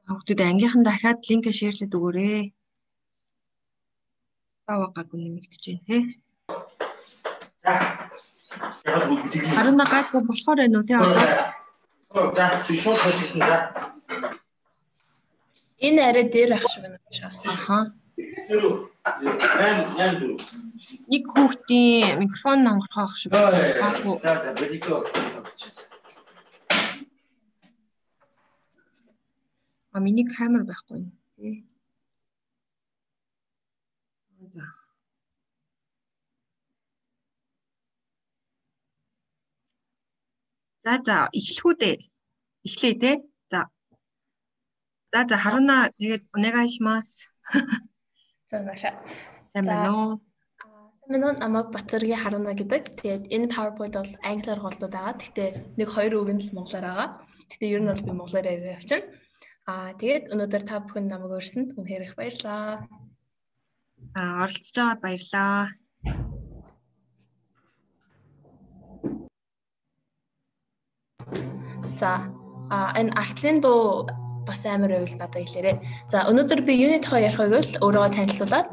Хүүхдүүд ангийнхан дахиад линк шеэрлээд өгөөрэй. Баваагагүй нэмэгдэж байна те. Харина гайгүй болохоор байна уу те одоо? Энэ арай дээр ах шиг байна. Аха. Нэг хүүхдийн микрофон онгорхоох шиг. За видео. Миний камер байхгүй юм тий. За эхлэх үү дээ. Эхлэе тий. За Харуна тэгээд унагашмас. Санааша. Тэмнэ. Минут намайг Батцэргийн Харуна гэдэг. Тэгээд энэ PowerPoint бол англиар голдуу байгаа. Гэхдээ нэг хоёр үг нь л монголоор байгаа. Гэхдээ ер нь бол би монголоор яриа явчихна. Тэгээд өнөөдөр та бүхэн намайг урьсанд үнэхээр их баярлалаа. Оролцож байгаад баярлалаа. За энэ артлын дуу бас амар байвал надад хэлээрэй. За өнөөдөр би юуны тухай ярих вэ гэвэл өөрийгөө танилцуулаад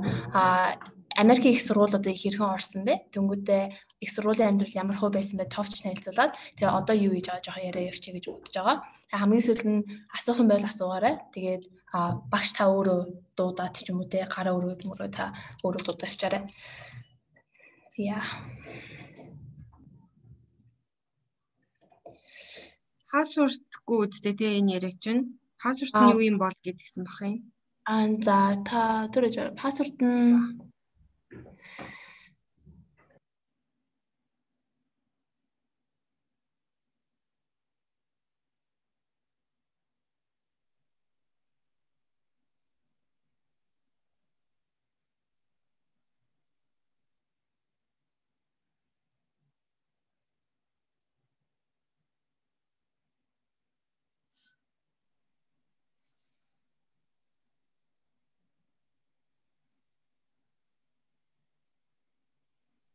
Америкийн их сургуулиудад их хэрхэн орсон бэ? Тэнгүүтээ их сургуулийн амьдрал ямар хөө байсан бэ? Товч танилцуулаад тэгээ одоо юу хийж байгаа жоохон яриа явчих гэж бодож байгаа. Хамгийн сүүлд нь асуух юм байл асуугаарай. Тэгээд багш та өөрөө дуудаад ч юм уу те гараа өргөд мөрөө та өөрөө дуудаа авчаарай. Яа. Пассвортгүй үстэй те энэ яриач чинь. Пассворт нь юу юм бол гэдгсэн бах юм. За та түрэж пассворт нь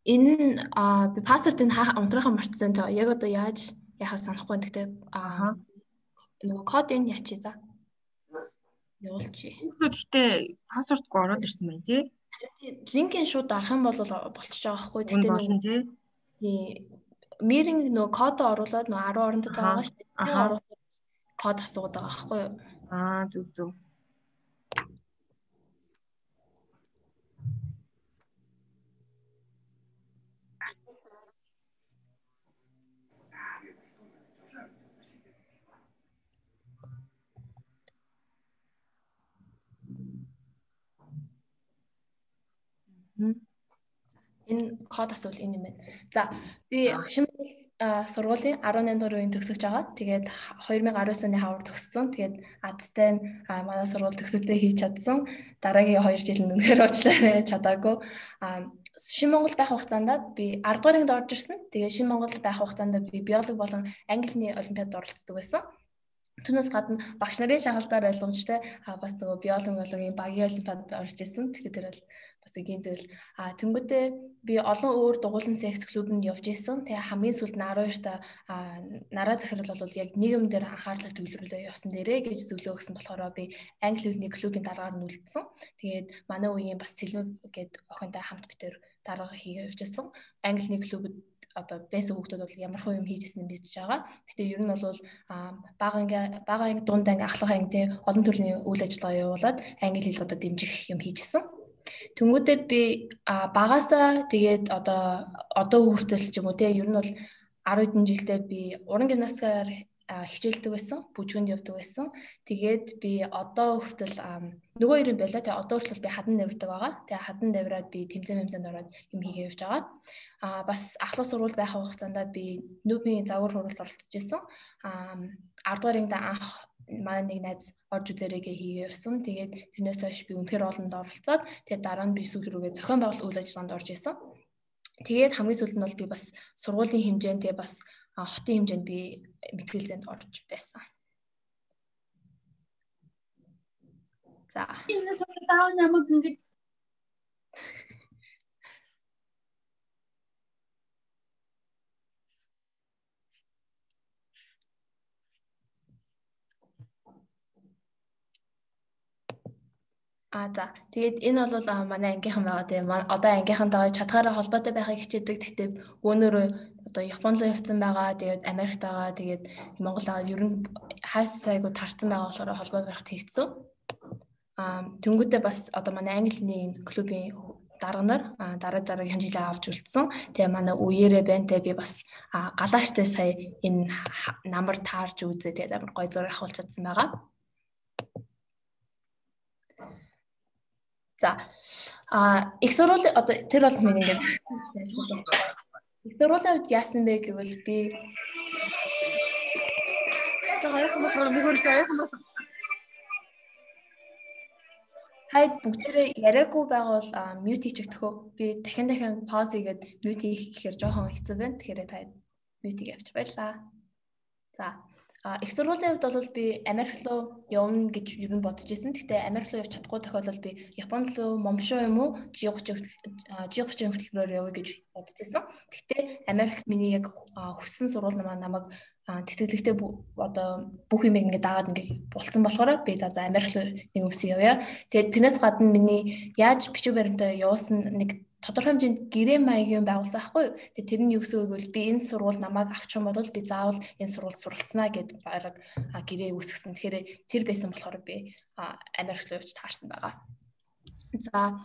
энэ би пассвортыг унтрахаа мартсан. Тэгээ яг одоо яаж яхаа санахгүй. Гэхдээ нөгөө кодыг яачи за. Явуулчих. Гэхдээ пассвортгүй ороод ирсэн байна тий. Линкийн шууд дарах юм бол болчихж байгаа хгүй. Тэгтээ болно тий. Миринг нөгөө код оруулаад нөгөө 10 орондод байгаа шүү дээ. Тэгээ оруулаад код асуугаад байгаа хгүй юу? Зүг. Энэ код асуул энэ юм байна. За би Шимбэл сургуулийн 18 дугаар үеийн төгсөж байгаа. Тэгээд 2019 оны хавар төгссөн. Тэгээд азтай нь манай сургууль төгсөлтөө хийж чадсан. Дараагийн 2 жил нь үнэхээр уучлаарай чадаагүй. Шин Монгол байх хугацаанд би 10 дугаар ангид орж ирсэн. Тэгээд Шин Монгол байх хугацаанд би биологи болон английн олимпиадад оролцдог байсан. Түүнээс гадна багш нарын шагалдаар ойлгомжтой бас нөгөө биологийн багийн олимпиадад орж ирсэн. Тэгэхээр тэр бол бас эгийн зүйл. Тэнгүүтээ би олон өөр дугуулсан секц клубанд явж исэн. Тэгээ хамгийн сүүлд нь 12 та нараа захирал бол яг нийгэм дээр анхаарлаа төвлөрүүлээ явсан дээрээ гэж зөвлөө өгсөн болохоор би англи хэлний клубын дараагаар нь үлдсэн. Тэгээд манай үеийн бас Цэлмэг гээд охинтой хамт битэр дараагаа хийгээ явжсэн. Англи хэлний клубд одоо байсан хүүхдүүд бол ямар хөө юм хийжсэн юм бийж байгаа. Гэхдээ ер нь бол багаангийн дунд анги ахлах ангид олон төрлийн үйл ажиллагаа явуулаад англи хэл одоо дэмжих юм хийжсэн. Тэнгүүдээ би багаасаа тэгээд одоо хүртэл ч юм уу те ер нь бол 10 хэдэн жилдээ би уран гимнастикаар хичээлдэг байсан, бүжгэнд явдаг байсан. Тэгээд би одоо хүртэл нөгөө хоёрын байлаа. Тэгээд одоо хүртэл би хадан давирдаг байгаа. Тэгээд хадан давираад би тэмцээнд ороод юм хийгээ явж байгаа. Бас ахлах сургууль байх хугацаанд би нүүбийн загвар хуралд оролцож байсан. 10 дугаар ангид анх манай нэг найз орж үзээрээгээ хийгээ явсан. Тэгээд тэрнээс хойш би үнэхээр олонд оролцоод тэгээд дараа нь би сүүл рүүгээ зохион байгуулалт үйл ажиллагаанд орж исэн. Тэгээд хамгийн сүүлд нь бол би бас сургуулийн хэмжээнд тэгээд бас хотын хэмжээнд би мэтгэлзээнд орж байсан. За. Энэ суултаа намайг ингэж За тэгээд энэ бол манай ангийнхан байгаа тийм одоо ангийнхантайгаа чадхаараа холбоотой байхыг хичээдэг. Гэхдээ өөрөөрөө одоо Японд руу явцсан байгаа. Тэгээд Америкт байгаа. Тэгээд Монгол байгаа. Ер нь хайс сайгүй тарцсан байгаа болохоор холбоо барихт хийцэн. Тэнгүүтээ бас одоо манай англи хэлний клубын дарга нар дараагийн жилээ авч үлдсэн. Тэгээ манай үеэрээ байна. Тэгээ би бас галааштай сая энэ намар таарж үзээ. Тэгээд амар гоё зураг авахулж чадсан байгаа. За их сургуулийн одоо тэр бол минь ингээд их сургуулийн үед яасан бэ гэвэл би хайд бүгдээрээ яриаггүй байгавал мьют хийчих төхөө. Би дахин пауз хийгээд мьют хийх гэхээр жоохон хэцүү байна. Тэгэхээр таад мьют хийгээвч баярлаа. За их сургуулийн хувьд бол би Америк руу явна гэж ер нь бодож ирсэн. Гэхдээ Америк руу явж чадахгүй тохиолдолд би Японд руу момшоо юм уу G30 хөтөлбөрөөр явъя гэж бодож ирсэн. Гэхдээ Америк миний яг хүссэн сургууль намайг тэтгэлэгтэй одоо бүх юм ингээд дагаад ингээд булцсан болохоор би за Америк руу нэг өсөө явъя. Тэгээд тэрнээс гадна миний яаж бичиг баримтаа явуулсан нэг тодорхой хэмжээнд гэрээ маягийн байгуулсан байхгүй юу. Тэгээд тэр нь юу гэсэн үг вэ? Би энэ сургууль намайг авчих юм бол би заавал энэ сургуульд суралцнаа гэд бараг гэрээ үүсгэсэн. Тэгэхээр тэр байсан болохоор би Америк руу явж таарсан байгаа. За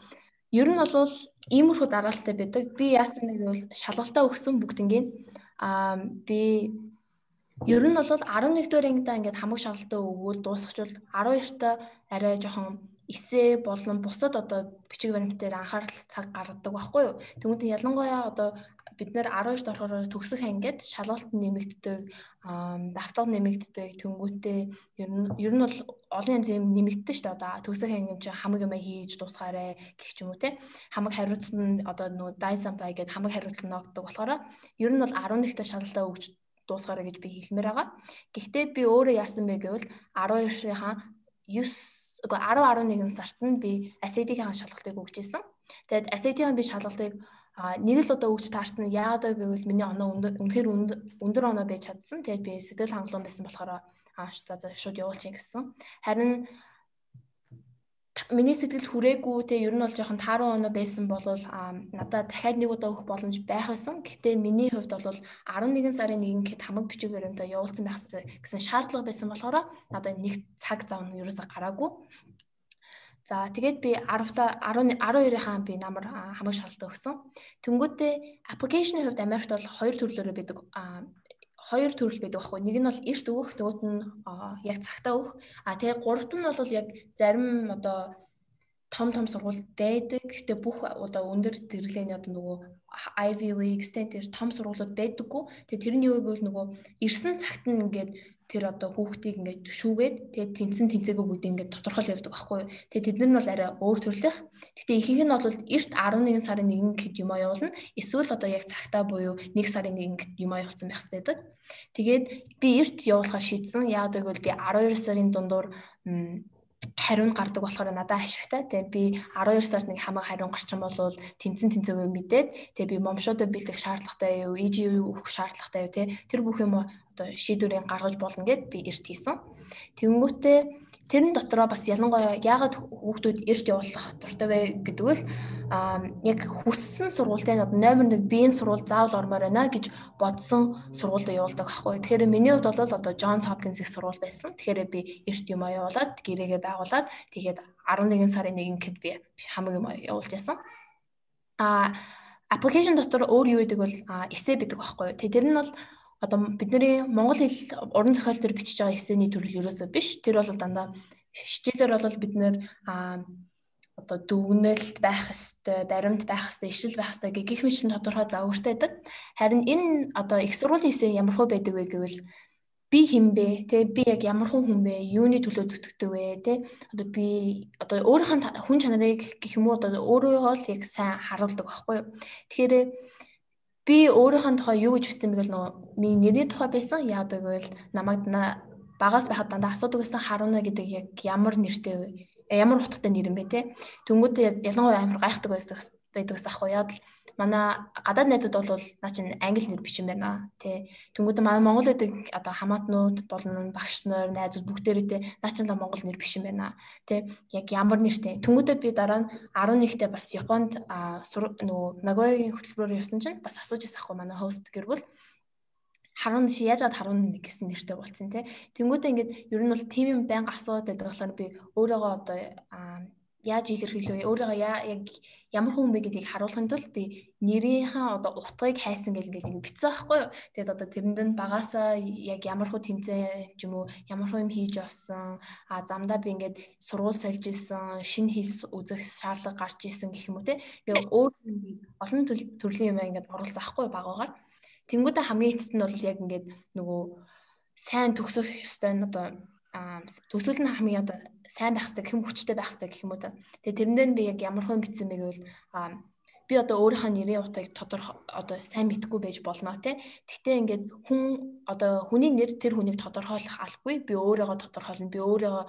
ер нь бол иймэрхүү дараалттай байдаг. Би яасан нэг бол шалгалтаа өгсөн бүгднгийн. Би ер нь бол 11 дугаар ангидаа ингээд хамаг шалгалтаа өгөөд дуусчихвол 12-та арай жоохон эсээ болон бусад одоо бичиг баримтаар анхаарал цаг гаргадаг байхгүй юу. Тэгвэл ялангуяа одоо бид нэр 12-т орохоор төгсөх ангид шалгалт нэмэгддэг, давтал нэмэгддэг, тэнгуүтээ ер нь бол олон янз юм нэмэгддэг шүү дээ. Одоо төгсөх анги юм чи хамаг юм хийж дуусгаарэ гэх ч юм уу те. Хамаг хариуцсан одоо нөгөө дайсампай гэдэг хамаг хариуцсан ногддог болохоор ер нь бол 11-т шалгалтаа өгч дуусгаарэ гэж би хэлмээр байгаа. Гэхдээ би өөрөө яасан бэ гэвэл 12-ийнхаа 10-11 сард нь би SAT-ийн шалгалтыг өгч ирсэн. Тэгээд SAT-ийн би шалгалтыг нэг л удаа өгч таарсан. Яагаад гэвэл миний оноо үнэхээр өндөр оноо байж чадсан. Тэгээд би сэтгэл хангалуун байсан болохоор за шууд явуулчих гэсэн. Харин миний сэтгэл хүрээгүй те ер нь бол жоохон тааруу оноо байсан бол надад дахиад нэг удаа өгөх боломж байх байсан. Гэхдээ миний хувьд бол 11 сарын 1-нд гэхэд хамаг бичиг баримтаа явуулсан байх гэсэн шаардлага байсан болохоор надад нэг цаг зав нь ерөөсөй гараагүй. За тэгээд би 12-ийнхаа би намар хамаг шалгалт өгсөн. Тэнгүүтээ аппликейшны хувьд Америкт бол хоёр төрлөөр байдаг. Хоёр төрөл байдаг байхгүй. Нэг нь бол эрт өгөх, нөгөөт нь яг цагтаа өгөх. Тэгээ гуравт нь бол яг зарим одоо том сургууль байдаг. Гэтэ бүх одоо өндөр зэрэглээний одоо нөгөө Ivy League, Stanford том сургуулиуд байдаггүй. Тэгээ тэрний юу гэвэл нөгөө ирсэн цагт нь ингээд тэр одоо хүүхдийг ингээд шүүгээд тэгээ тэнцээгүй бүгд ингээд тодорхойл явдаг байхгүй юу. Тэгээ тэд нар нь бол арай өөр төрлөх. Гэтэ ихэнх нь бол эрт 11 сарын 1 гэхэд юм явуулна. Эсвэл одоо яг цагтаа буюу 1 сарын 1 гэхэд юм явуулсан байх хэрэгтэй. Тэгээд би эрт явуулахаар шийдсэн. Яагаад гэвэл би 12 сарын дундуур хариун гардаг болохоор надад ашигтай. Тэгээ би 12 сард нэг хамаг хариун гарчин болвол тэнцээгүй мэдээд тэгээ би момшоодоо бэлдэх шаардлагатай юу, EG өгөх шаардлагатай юу те тэр бүх юм одоо шийдвэрийг гаргаж болно гэд би эрт хийсэн. Тэнгүүтээ тэрэн дотроо бас ялангуяа яагаад хүүхдүүд эрт явуулах дуртай вэ гэдэг нь яг хүссэн сургуультай нь номер 1 биеийн сургууль заавал ормоор байна гэж бодсон сургуульд явуулдаг байхгүй. Тэгэхээр миний хувьд бол одоо Johns Hopkins их сургууль байсан. Тэгэхээр би эрт юм явуулаад гэрээгээ байгуулад тэгээд 11 сарын 1 гэхэд би хамаг юм явуулж яасан. Application дотор өөр юу гэдэг бол эссе байдаг байхгүй. Тэр нь бол одоо бидний монгол хэл уран зохиол төр бичиж байгаа эссений төрөл ерөөсөө биш. Тэр бол дандаа хичээлээр бол бид нэр одоо дүгнэлт байх ёстой, баримт байх ёстой, ишлэл байх ёстой гэх мэт тодорхой загвартай байдаг. Харин энэ одоо их сургуулийн эссе ямар хөө байдаг вэ гэвэл би хэн бэ? Тэ би яг ямар хүн бэ? Юуны төлөө зүтгэдэг вэ? Тэ одоо би одоо өөрийнхөө хүн чанарыг гэх юм уу одоо өөрийгөө л яг сайн харуулдаг байхгүй юу? Тэгэхээр би өөрийнхөө тухай юу гэж бичсэн бэ гэвэл миний нэрийн тухай байсан. Яадаг вэ? Намайг багаас байхад дандаа асуудаг гэсэн Харуна гэдэг яг ямар нэртэй вэ? Ямар утгатай нэр юм бэ те? Тэнгүүд ялангуяа амар гайхдаг байдаг гэсэн ахгүй яа л манай гадаад найзууд бол наа чин англи нэр биш юм байна те. Тэнгүүд манай монгол гэдэг одоо хамаатнууд болон багш нар найзууд бүгдээрээ те наа чин л монгол нэр биш юм байна те. Яг ямар нэртэй. Тэнгүүдээ би дараа нь 11-т бас Японд нөгөө Нагоягийн хөтөлбөрөөр явсан чинь бас асууж ирсэн ахгүй манай хост гэр бол Харун чи яаж гад Харун гэсэн нэртэй болцсон те. Тэнгүүдээ ингээд ер нь бол тийм юм байнга асуудаг болохоор би өөрийгөө одоо яаж илэрхийлвэ? Өөрийгөө яг ямар хүн бэ гэдгийг харуулахын тулд би нэрийнхээ одоо утгыг хайсан гэл ингээд бичсэн байхгүй юу? Тэгээд одоо тэрэнд нь багасаа яг ямар хөө тэмцээн ч юм уу ямар хөө юм хийж авсан замдаа би ингээд сургууль сольж исэн, шинэ хэл үзэх шаардлага гарч исэн гэх юм уу те. Ингээд өөр олон төрлийн юм ингээд оруулсан байхгүй юу багаагаар. Тэнгүүдээ хамгийн эцэст нь бол яг ингээд нөгөө сайн төгсөх ёстой нь одоо төгсгөл нь хамгийн одоо сайн байх хэрэгтэй гэх юм хүчтэй байх хэрэгтэй гэх юм уу та. Тэгээ тэрэн дээр би яг ямар хүн бичсэн бэ гэвэл би одоо өөрийнхөө нэрийн утгыг тодорхой одоо сайн мэдгүй байж болно те. Гэхдээ ингээд хүн одоо хүний нэр тэр хүнийг тодорхойлох албагүй. Би өөрийгөө тодорхойлно. Би өөрийгөө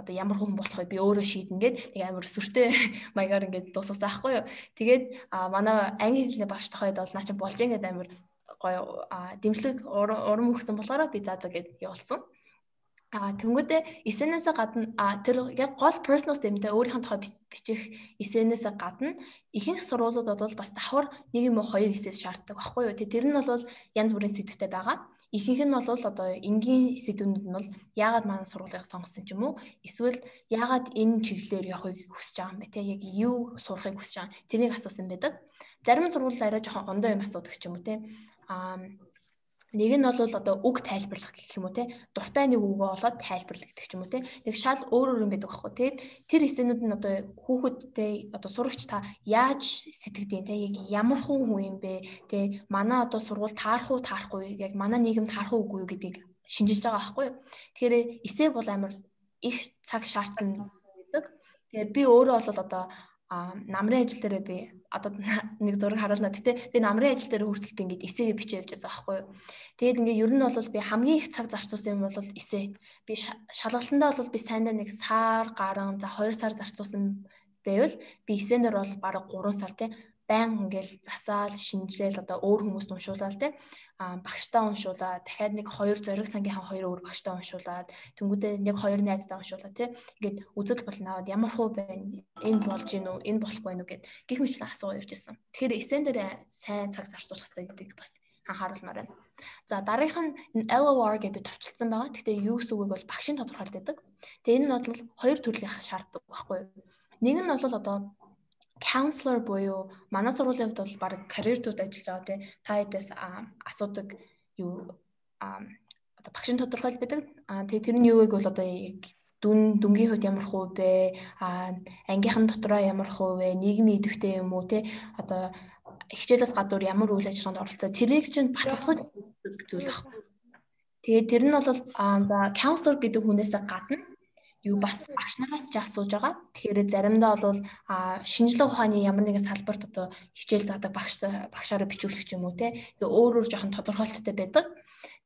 одоо ямар хүн болох вэ? Би өөрөө шийднэ гэд нэг амар сүртэй маягаар ингээд дуусгасан аахгүй юу. Тэгээд манай англи хэлний багш тохойд бол наа чи болж ингээд амар гоё дэмжлэг урам өгсөн болохоор би заа гэд явуулсан. Тэнгүүдээ эссенээсээ гадна тэр яг гол personal statement өөрийнхөө тухай бичих эссенээсээ гадна ихэнх сургуулиуд бол бас давхар нэг юм уу хоёр эссээс шаарддаг байхгүй юу. Тэр нь бол янз бүрийн сэдвтэй байгаа. Ихэнх нь бол одоо энгийн сэдвүүд нь бол яагаад манай сургуулийг сонгосон ч юм уу эсвэл яагаад энэ чиглэлээр явахыг хүсэж байгаа юм бэ те. Яг юу сурахыг хүсэж байгаа. Тэрийг асуусан байдаг. Зарим сургуулиуд арай жоохон ондоо юм асуудаг ч юм уу те. Нэг нь бол одоо үг тайлбарлах гэх юм уу те. Дуртай нэг үгөө олоод тайлбарлах гэх юм уу те. Нэг шал өөр юм байдаг байхгүй. Тэгээд тэр эссенүүд нь одоо хүүхэдтэй одоо сурагч та яаж сэтгэдیں۔ Те яг ямар хүн юм бэ те. Манай одоо сургууль таарах уу таарахгүй яг манай нийгэм таарах уугүй юу гэдгийг шинжилж байгаа байхгүй. Тэгэхээр эссе бол амар их цаг шаардсан байдаг. Тэгээд би өөрөө бол одоо намрын ажил дээр би одоо нэг зураг харуулна. Гэтэ би намрын ажил дээр хүртэл би ингээд эсээ бичиж явж байсан байхгүй юу. Тэгээд ингээд ер нь бол би хамгийн их цаг зарцуулсан юм бол эсээ. Би шалгалтандаа бол би сайндаа нэг сар гарan за 2 сар зарцуулсан байвал би эсээнээр бол бараг 3 сар те баян ингээл засаал шинжилэл одоо өөр хүмүүст уншуулаад те багштай уншуулаад дахиад нэг 2 зориг сангийнхаа 2 өөр багштай уншуулаад тэнгүүдээ нэг 2 найзтай уншуулаад те ингээд үзэл болно аваад ямар хөө байна энэ болж гин үү энэ болохгүй нү гэд гих мэтлэн асуу явж ирсэн. Тэгэхээр эсэн дээр сайн цаг зарцуулах хэрэгтэй гэдэг бас анхааруулмаар байна. За дараагийнх нь энэ LOR гэж би товчлсон байгаа. Гэхдээ юу гэсэн үгийг бол багшийн тодорхойлдог. Тэгээ энэ нь бол хоёр төрлийн шаарддаг байхгүй юу. Нэг нь бол одоо counselor буюу манай сургуулийн хувьд бол баг карьертууд ажиллаж байгаа тий. Та хэдээс асуудаг юу одоо багшийн тодорхойл байдаг. Тэгээ тэр нь юу вэ гэвэл одоо яг дүнгийн хувьд ямар хөө бэ? Ангийнхан дотроо ямар хөө вэ? Нийгмийн идэвхтэй юм уу тий? Одоо хичээлээс гадуур ямар үйл ажиллагаанд оролцоо тэрийг чинь баталгаж зүйл ах. Тэгээ тэр нь бол за counselor гэдэг хүнээс гадна юу бас багш нараас ч асууж байгаа. Тэгэхээр заримдаа бол шинжилгээ ухааны ямар нэгэн салбарт одоо хичээл заадаг багшаараа бичүүлэх юм уу те. Тэгээ өөр жоохон тодорхойлттой байдаг.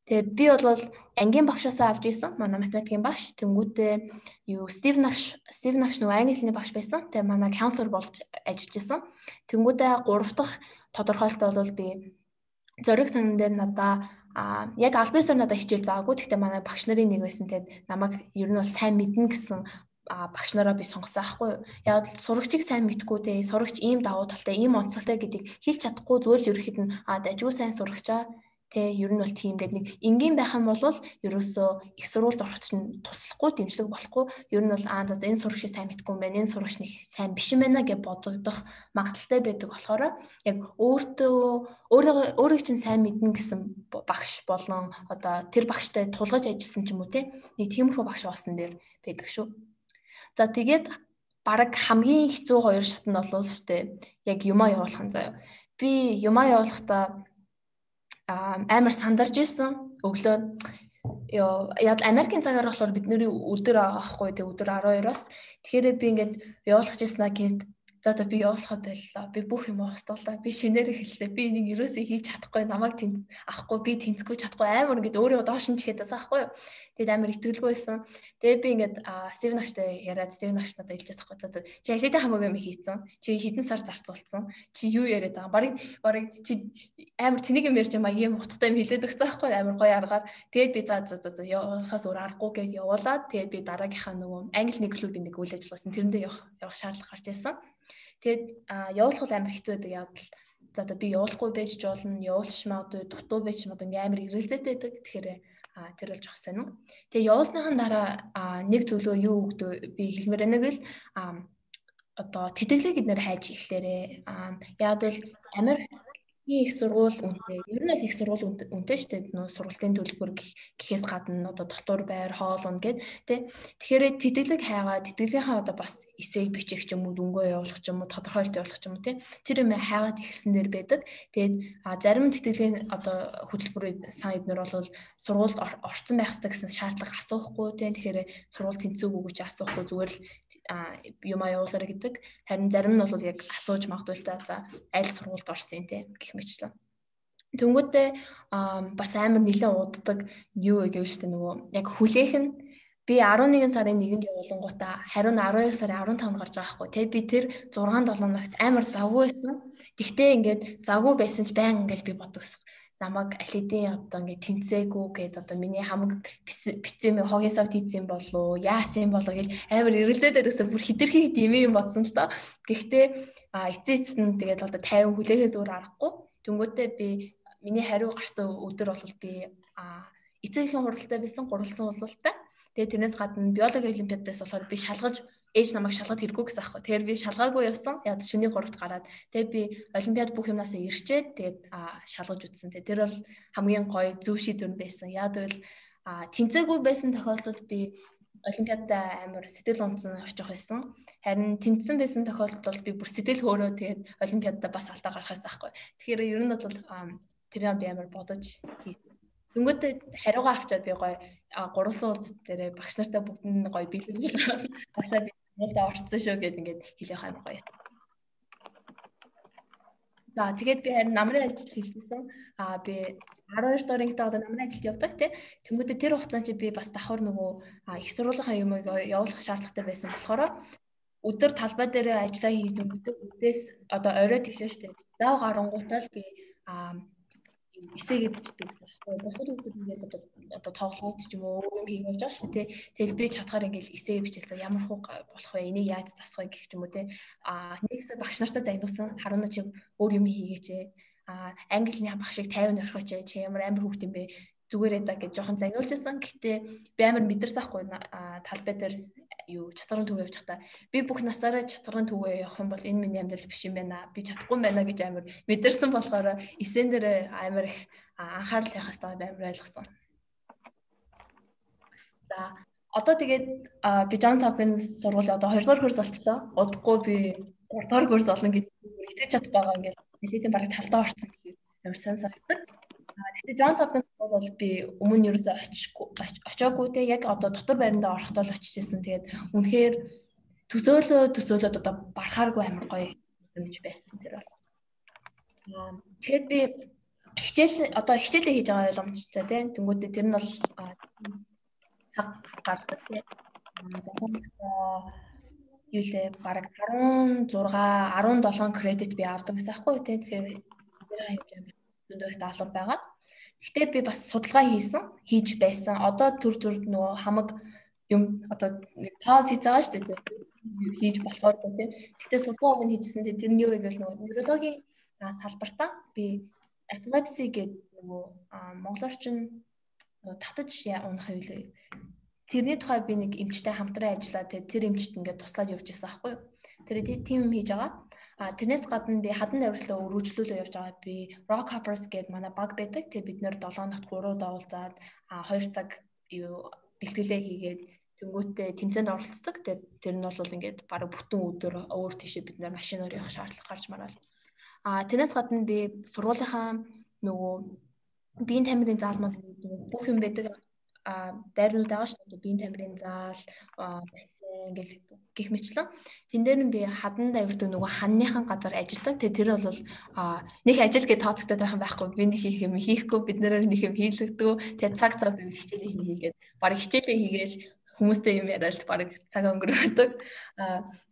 Тэгээ би бол ангийн багшаасаа авч ирсэн. Манай математикийн багш. Тэнгүүтээ юу Стив Нагш нөгөө англи хэлний багш байсан. Тэгээ манай counselor болж ажиллаж исэн. Тэнгүүтээ 3 дахь тодорхойлттой бол би зориг санан дээр надаа яг албасаар надад хичээл заагүй. Гэхдээ манай багш нарын нэг байсан. Тэгээд намайг ер нь бол сайн мэднэ гэсэн багш нараа би сонгосон аахгүй юу. Яг сурагчийг сайн мэдгүй те сурагч ийм давуу талтай, ийм онцлогтой гэдгийг хэлж чадахгүй зүгээр л ерөөхдөө дажгүй сайн сурагчаа Тэ ер нь бол тийм гэдэг нэг энгийн байх юм бол ерөөсөө их сургуульд орох чинь туслахгүй дэмжлэг болохгүй ер нь бол за энэ сурагчийг сайн мэдгүй юм байна энэ сурагч нэг сайн биш юм байна гэж бодогдох магадaltaй байдаг болохоор яг өөрийг чинь сайн мэднэ гэсэн багш болон одоо тэр багштай тулгаж ажилласан ч юм уу те нэг тиймэрхүү багш боосон дээр байдаг шүү. За тэгээд бараг хамгийн хэцүү хоёр шат нь бол штэ яг юмаа явуулах нь заяа. Би юмаа явуулахдаа амар сандарч исэн өглөө яг Америкийн цагаар болохоор бидний өдөр аахгүй тэг өдөр 12-оос тэгэхээр би ингээд явуулах гэснаа гээд за би явуулахаа байлаа. Би бүх юм устгалаа. Би шинээр эхэллээ. Би энийг ерөөсөө хийж чадахгүй. Намайг авахгүй. Би тэнцэхгүй чадахгүй. Амар ингээд өөрөө доош нь чихэд тасаа ахгүй юу. Тэгээд амар итгэлгүй байсан. Тэгээд би ингээд Стивен агштай яриад Стивен агш надад хэлжээс ахгүй. За чи алитай хамаагүй юм хийцэн. Чи хэдэн сар зарцуулсан. Чи юу яриад байгаа. Барыг чи амар тэнийг юм ярьж байгаа юм утгатай юм хэлээд өгсөн ахгүй амар гоё аргаар. Тэгээд би за явахаас өөр аргагүй гэж явуулаад тэгээд би дараагийнхаа нөгөө англи нэг клубын нэг үйл ажиллагаасан тэрэндээ явах шаардлага гарч ирсэн. Тэгээд явуулах бол амар хэцүү байдаг яг л за би явуулахгүй байж ч болно явуулж магадгүй дутуу байж магадгүй ингээм амар ирэлзээтэй байдаг тэгэхээр тэр л жоох сонин. Тэгээд явуулсныхан дараа нэг зөвлөө юу өгдөө би хэлмээр байна гэвэл одоо тэтгэлэг эднэр хайж эхлээрээ яг л Америк их сургууль үнэтэй. Ер нь их сургууль үнэтэй шүү дээ. Нөө сургуулийн төлбөр гэхээс гадна одоо дотор байр хоолно гэд тэ. Тэгэхээр тэтгэлэг хайгаад тэтгэлгийнхаа одоо бас эсэйг бичих ч юм уу дүнгөө явуулах ч юм уу тодорхойлт явуулах ч юм уу тэ. Тэр юм хайгаад эхэлсэн дэр байдаг. Тэгээд зарим тэтгэлийн одоо хөтөлбөрүүд сайн эднэр бол сургуульд орцсон байх хэрэгтэй гэсэн шаардлага асуухгүй тэ. Тэгэхээр сургууль тэнцээгүй гэж асуухгүй зүгээр л юм явуулаарай гэдэг. Харин зарим нь бол яг асууж магадгүй л та за аль сургуульд орсон те гэх мэтлээ. Тэнгүүтээ бас амар нэлээд уддаг юу гэв штэ нөгөө яг хүлээх нь би 11 сарын 1-нд явуулангуудаа хариу нь 12 сарын 15-нд гарч байгаа хгүй те би тэр 6-7 ногт амар завгүй байсан. Тэгтээ ингээд завгүй байсан ч баян ингээд би бодогсох. Замаг алидийн одоо ингээд тэнцээгүй гээд одоо миний хамаг бицэм хогийн савт хийсэн болов яасан болов гэж амар эргэлзээдээ гэсэн бүр хитрхи юм бодсон л доо. Гэхдээ эцээц нь тэгээд одоо 50 хүлээхээс өөр аргагүй. Тэнгүүтээ би миний хариу гарсан өдөр бол би эцээхийн хуралтай байсан гурвалсан уулзалттай. Тэгээд тэрнээс гадна биологи олимпиадаас болохоор би шалгаж ээж намайг шалгах хэрэггүй гэсэн аахгүй. Тэгэхээр би шалгаагүй явсан. Яг шөнийн 3-т гараад тэгээд би олимпиад бүх юмнасаа ирчээд тэгээд шалгаж үтсэн. Тэр бол хамгийн гоё зөв шийдвэр байсан. Яг л тэнцээгүй байсан тохиолдолд би олимпиадаа амар сэтгэл унтсан очих байсан. Харин тэнцсэн байсан тохиолдолд би бүр сэтгэл хөөрөө тэгээд олимпиадаа бас алдаа гаргахаас аахгүй. Тэгэхээр ер нь бол тэр би амар бодож хийсэн. Тэнгүүтээ хариугаа авчаад би гоё гурван уулзалт дээр багш нартай бүгд нь гоё бэлэг болгоод багшаа би нэлээд орцсон шүү гэд ингээд хэлэх амар гоё. За тэгээд би харин намрын ажил хийсэн. Би 12 дорынхтай одоо намрын ажилд явдаг тий. Тэнгүүтээ тэр хугацаанд чи би бас давхар нөгөө их сургуулийн юмыг явуулах шаардлагатай байсан болохоор өдөр талбай дээр ажиллаа хийдэг өдөөс одоо орой тэгшээ штэ. Зав гарангуутаа л би эсээгээ бичдэг гэсэн байна. Бусад хүмүүс ингээл одоо тоглоод ч юм уу өөр юм хийж явж байгаа шүү дээ. Тэгэл би чадхаар ингээл эсээгээ бичээл за ямар хуу болох вэ? Энийг яаж засах вэ гэх юм уу те. Нэгсээ багш нартаа загнуулсан. Харуунаа чи өөр юм хийгээч. Английн багшийг 50 орхиоч чи ямар амар хүүхд юм бэ? Зүгээрээ да гэж жоохон загнуулжсэн. Гэхдээ би амар мэдэрсахгүй талбай дээр юу чацрын түг явж байхдаа би бүх насаараа чацрын түгээ явах юм бол энэ миний амьдрал биш юм байна. Би чадахгүй юм байна гэж амар мэдэрсэн болохоор эсэн дээр амар их анхаарал явах хэрэгтэй амар ойлгосон. За одоо тэгээд би Джонс Хопкинс сургуулийн одоо 2 дугаар курс олчлоо. Удахгүй би 3 дугаар курс олно гэж итгэж чадах байгаа ингээд нэлээдээ бараг талдаа орсон гэхээр амар сайн санагдав. Гэхдээ Джонс Хопкинс бол би өмнө нь ерөөсөй очоогүй те яг одоо дотор байрандаа орохдоо л очиж исэн. Тэгээд үнэхээр төсөөлөд одоо барахааргүй амар гоё юмж байсан тэр бол. Тэгэхээр би хичээлээ хийж байгаа ойлгомжтой те. Тэнгүүтээ тэр нь бол цаг гардаг те. Юу лээ бараг 16 17 кредит би авдаг гэсэн аахгүй те. Тэгэхээр тэр хэмжээ зөндөө даалгавар байгаа. Гэхдээ би бас судалгаа хийж байсан. Одоо төр нөгөө хамаг юм одоо пауз хийж байгаа шүү дээ. Хийж болохоор тийм. Гэхдээ судалгаа өгөн хийжсэн. Тэр нь юу вэ гэвэл нөгөө неврологийн салбартаа би epilepsy гэдэг монголоор чинь татаж унах юм. Тэрний тухай би нэг эмчтэй хамтран ажиллаа. Тэр эмчт ингээд туслаад явж байсан аахгүй юу. Тэр тийм юм хийж байгаа. Тэрнээс гадна би хадан навирлаа өргөжлүүлээ явж байгаа. Би Rock Hoppers гэдэг манай баг байдаг. Тэр бид нэр 7 хоногт 3 удаа уулзаад 2 цаг бэлтгэлээ хийгээд тэнгуүтээ тэмцээнд оролцдог. Тэр нь бол ингээд бараг бүтэн өдөр өөр тийшээ бид нэр машинаар явах шаардлага гарч марвал. Тэрнээс гадна би сургуулийнхаа нөгөө биеийн тамирын заалмал бүх юм байдаг. Байрнууд байгаа шүү дээ. Биеийн тамирын заал, бассейн гэх мэтлэн. Тэн дээр нь би хадан давирдаг нөгөө ханныхан газар ажилладаг. Тэр бол нэг ажил гэж тооцогдоод байх юм байхгүй. Би нэг хийх юм хийхгүй, бид нэрээр нэг юм хийлэгдэг. Тэгээ цаг би хичээлээ хийгээд, бараг хичээлээ хийгээл хүмүүстэй юм яриад бараг цаг өнгөрөөдөг.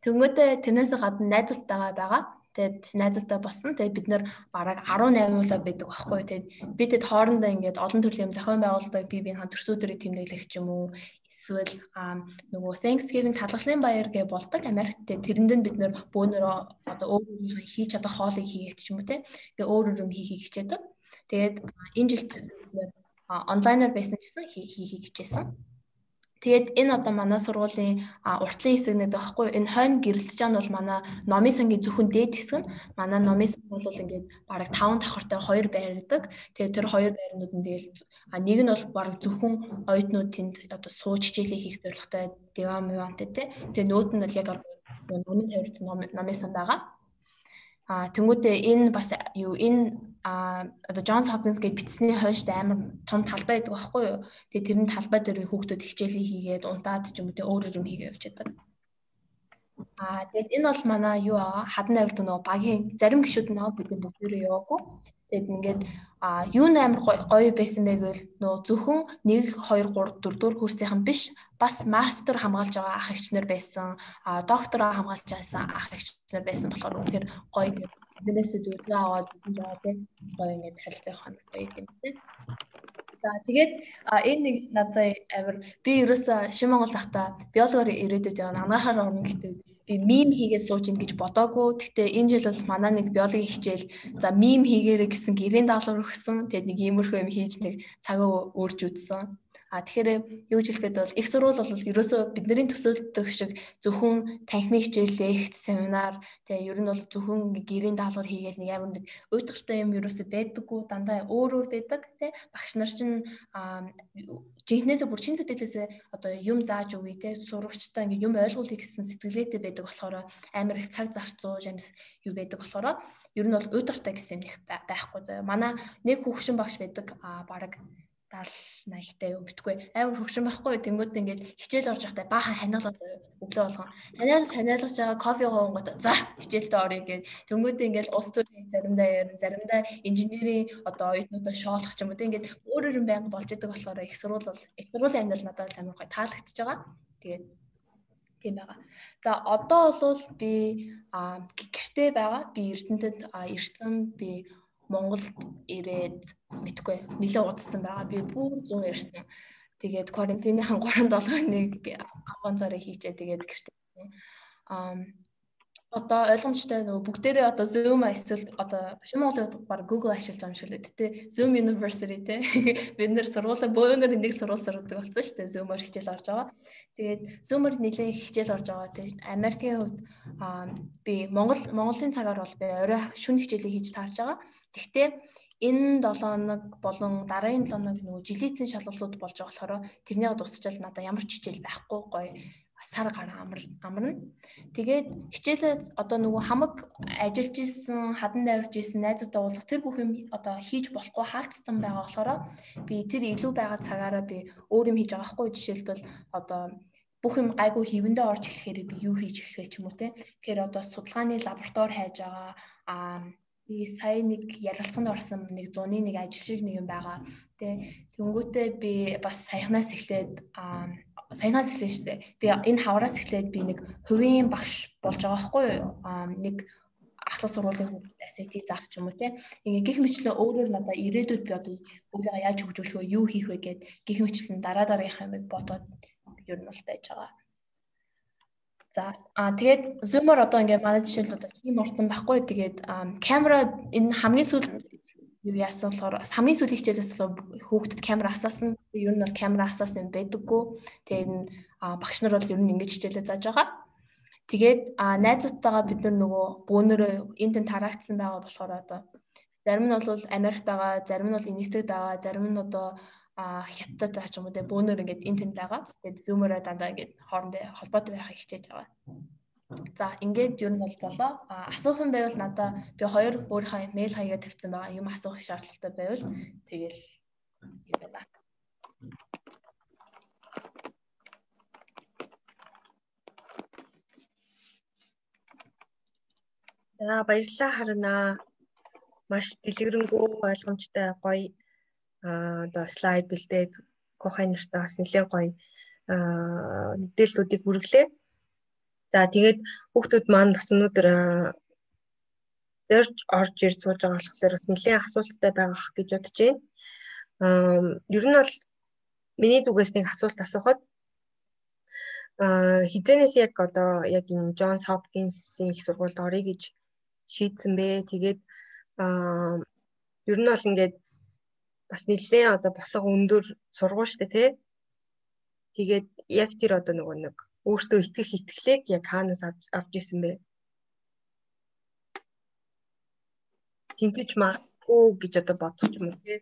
Тэнгүүтээ тэрнээс гадна найзуудтайгаа байгаа. Тэгээд найзуудтай босно. Тэгээд бид нэр бараг 18 улаа байдаг байхгүй. Тэгээд бид хоорондоо ингээд олон төрлийн зохион байгуулалтыг бие биеийн төрсөдрийг тэмдэглэх ч юм уу. Эсвэл нөгөө Thanksgiving талгалын баяр гэж болдог Америкт. Тэрэнд нь бид нэр бөөнөрөө одоо өөр хийж чадах хоолыг хийгээд ч юм уу те. Ингээ өөр юм хийхийг хичээдэг. Тэгээд энэ жил гэсэн бид нэр онлайнаар байсан гэсэн хийхийг хичээсэн. Тэгээд энэ одоо манай сургуулийн уртлын хэсэг нэг байхгүй энэ хойно гэрэлтэж байгаа нь бол манай номын сангийн зөвхөн дээд хэсэг нь манай номын санг бол ингээд бараг 5 давхартай 2 байрдаг. Тэгээд тэр 2 байрнууд нь тэгэл нэг нь бол бараг зөвхөн оюутнууд тэнд одоо сууж хичээлээ хийх зорилготой диван мивантай тий. Тэгээд нүүд нь бол яг номын тавирт номын сан байгаа. Тэнгүүтээ энэ бас энэ одоо Johns Hopkins гэж бичсний хойшд амар том талбай байдаг байхгүй юу. Тэгээ тэрний талбай дээр хүүхдүүд хичээлээ хийгээд унтаад ч юм уу өөр юм хийгээ явж байдаг. Тэгээд энэ бол манай юу аа хадан навирт нөгөө багийн зарим гишүүд нөгөө бидний бүгдээрээ яваагүй. Тэгээд ингээд юу амар гоё байсан бэ гэвэл нөгөө зөвхөн 1 2 3 4 дугаар курсийнхан биш бас мастер хамгаалж байгаа ах эгчнэр байсан, доктороо хамгаалж байсан ах эгчнэр байсан болохоор үнэхээр гоё. Тэрнээс зүрхээ аваад зүрхэн жаа тийм гоё ингээд харилцах хоног гоё юм тийм. За тэгээд энэ нэг надад амар би ерөөсө Шин Монгол тахта биологоор ирээдүйд явна ангаахаар орно гэдэг би мим хийгээд сууж ин гэж бодоагүй. Гэхдээ энэ жил бол манай нэг биологийн хичээл за мим хийгээрэй гэсэн гэрийн даалгавар өгсөн. Тэгээд нэг иймэрхүү юм хийж нэг цагаа өөрж үзсэн. Тэгэхээр юу гэж хэлэхэд бол их сурвал бол ерөөсөө бидний төсөөлдөг шиг зөвхөн танхимын хичээл, лекц, семинар тэгээ ер нь бол зөвхөн гэрийн даалгавар хийгээл нэг амар нэг уйтгартай юм ерөөсөө байдаггүй дандаа өөр байдаг тий багш нар чинь жинхнээсээ бүр чин сэтгэлээсээ одоо юм зааж өгье тий сурагчтай ингээ юм ойлгуулъя гэсэн сэтгэлгээтэй байдаг болохоор амар их цаг зарцуулж амс юу байдаг болохоор ер нь бол уйтгартай гэсэн юм их байхгүй заяа манай нэг хүүхшин багш байдаг бараг 70-80-тай юу битгүй амар хөвшин байхгүй тэнгууд ингээд хичээл орж явахдаа баахан ханиалаад өглөө болгон ханиалгаж байгаа кофе гоongод за хичээлдээ орё гэж тэнгууд ингээд ус төрийн заримдаа инженерийн одоо оюутнуудаа шоолох ч юм уу ингээд өөр байнга болж идэг болохоор их сургуулийн амьдрал надад амар гоё таалагдчихж байгаа. Тэгээд тийм байгаа. За одоо бол би гэртээ байгаа. Би Эрдэнэтэд ирсэн. Би Монголд ирээд мэдгүй нэлээд удацсан байгаа. Би бүр 100 ирсэн. Тэгээд карантиныхан 3-7 аванцаараа хийчээ тэгээд гэртээ. Одоо ойлгомжтой нөгөө бүгдээрээ одоо Zoom эсвэл одоо Шин Монголын баг Google ашиглаж байгаа юм шиг л дээ. Zoom University те. Бид нэр сургуулаа бөөнөр нэг сургууль сурдаг болсон шүү дээ. Zoom-оор хичээл орж байгаа. Тэгээд Zoom-оор нэлээд хичээл орж байгаа. Тэгээд Америкийн хувьд би Монголын цагаар бол би орой шөнө хичээлээ хийж таарж байгаа. Гэхдээ энэ 7 хоног болон дараагийн 7 хоног нөгөө жилийн шалгалтууд болж байгаа болохоор тэрнийг дуусчаал надаа ямар ч хичээл байхгүй гоё сар гараа амарна. Тэгээд хичээлээ одоо нөгөө хамаг ажиллаж исэн, хадан давирж исэн найзуудтай уулзах тэр бүх юм одоо хийж болохгүй хаагдсан байгаа болохоор би тэр илүү байгаа цагаараа би өөр юм хийж байгаа байхгүй жишээлбэл одоо бүх юм гайгүй хөвөндөө орж эхлэхээр би юу хийж эхлэх ч юм уу те. Тэгэхээр одоо судалгааны лаборатори хайж байгаа би сая нэг ярилцсанд орсон нэг 100-ны нэг ажил шиг нэг юм байгаа. Тэнгүүтээ би бас саяхнаас эхлээд шүү дээ. Би энэ хавраас эхлээд би нэг хувийн багш болж байгаа байхгүй юу? Нэг ахлах сургуулийн хүүхдэд SAT заах ч юм уу те. Ингээ гих мэтлээ өөрөөр надаа ирээдүйд би одоо өөрийгөө яаж хөгжүүлэх вэ, юу хийх вэ гэд гих мэтлэн дараагийнхаа юмыг бодоод ер нь бол байж байгаа. За тэгээд Zoom-оор одоо ингээ манай жишээл одоо тийм орсон байхгүй. Тэгээд камера энэ хамгийн сүүлд юу яасан болохоор хамгийн сүүлийн хичээлээс хүүхдэд камера асаасан. Ер нь бол камера асаасан байдаггүй. Тэгээд багш нар бол ер нь ингэж хичээлээ зааж байгаа. Тэгээд найзуудтайгаа бид нар нөгөө бөөнөрөө энтэн тараагдсан байгаа болохоор одоо зарим нь бол Америкт байгаа, зарим нь бол Энэтхэгт байгаа, зарим нь одоо Хятадд байгаа ч юм уу те бөөнөр ингээд энтэнд байгаа. Тэгээд зүүмээрээ дандаа ингээд хоорондоо холбоотой байхыг хичээж байгаа. За ингээд ер нь бол болоо. Асуух юм байвал надаа би 2 өөрийнхөө мэйл хаягаа тавьсан байгаа. Юм асуух шаардлагатай байвал тэгэл юм байна. За баярлалаа Харна. Маш дэлгэрэнгүй ойлгомжтой гоё одоо слайд бэлдээд Кохай нэртэй бас нэлээд гоё мэдээллүүдийг хүргэлээ. За тэгээд хүүхдүүд маань бас өнөөдөр зорж орж ирж сууж байгаа болохоор бас нэлээд асуулттай байгаах гэж бодож байна. Ер нь бол миний зүгээс нэг асуулт асуухад хизэнээс яг одоо яг энэ Джонс Хопкинсийн их сургуульд орё гэж шийдсэн бэ. Тэгээд ер нь бол ингээд бас нэлээд одоо босго өндөр сургууль штэ тий. Тэгээд яг тэр одоо нөгөө нэг өөртөө итгэх итгэлийг яг хаанаас авч исэн бэ? Тэнцэж магадгүй гэж одоо бодох юм уу тий?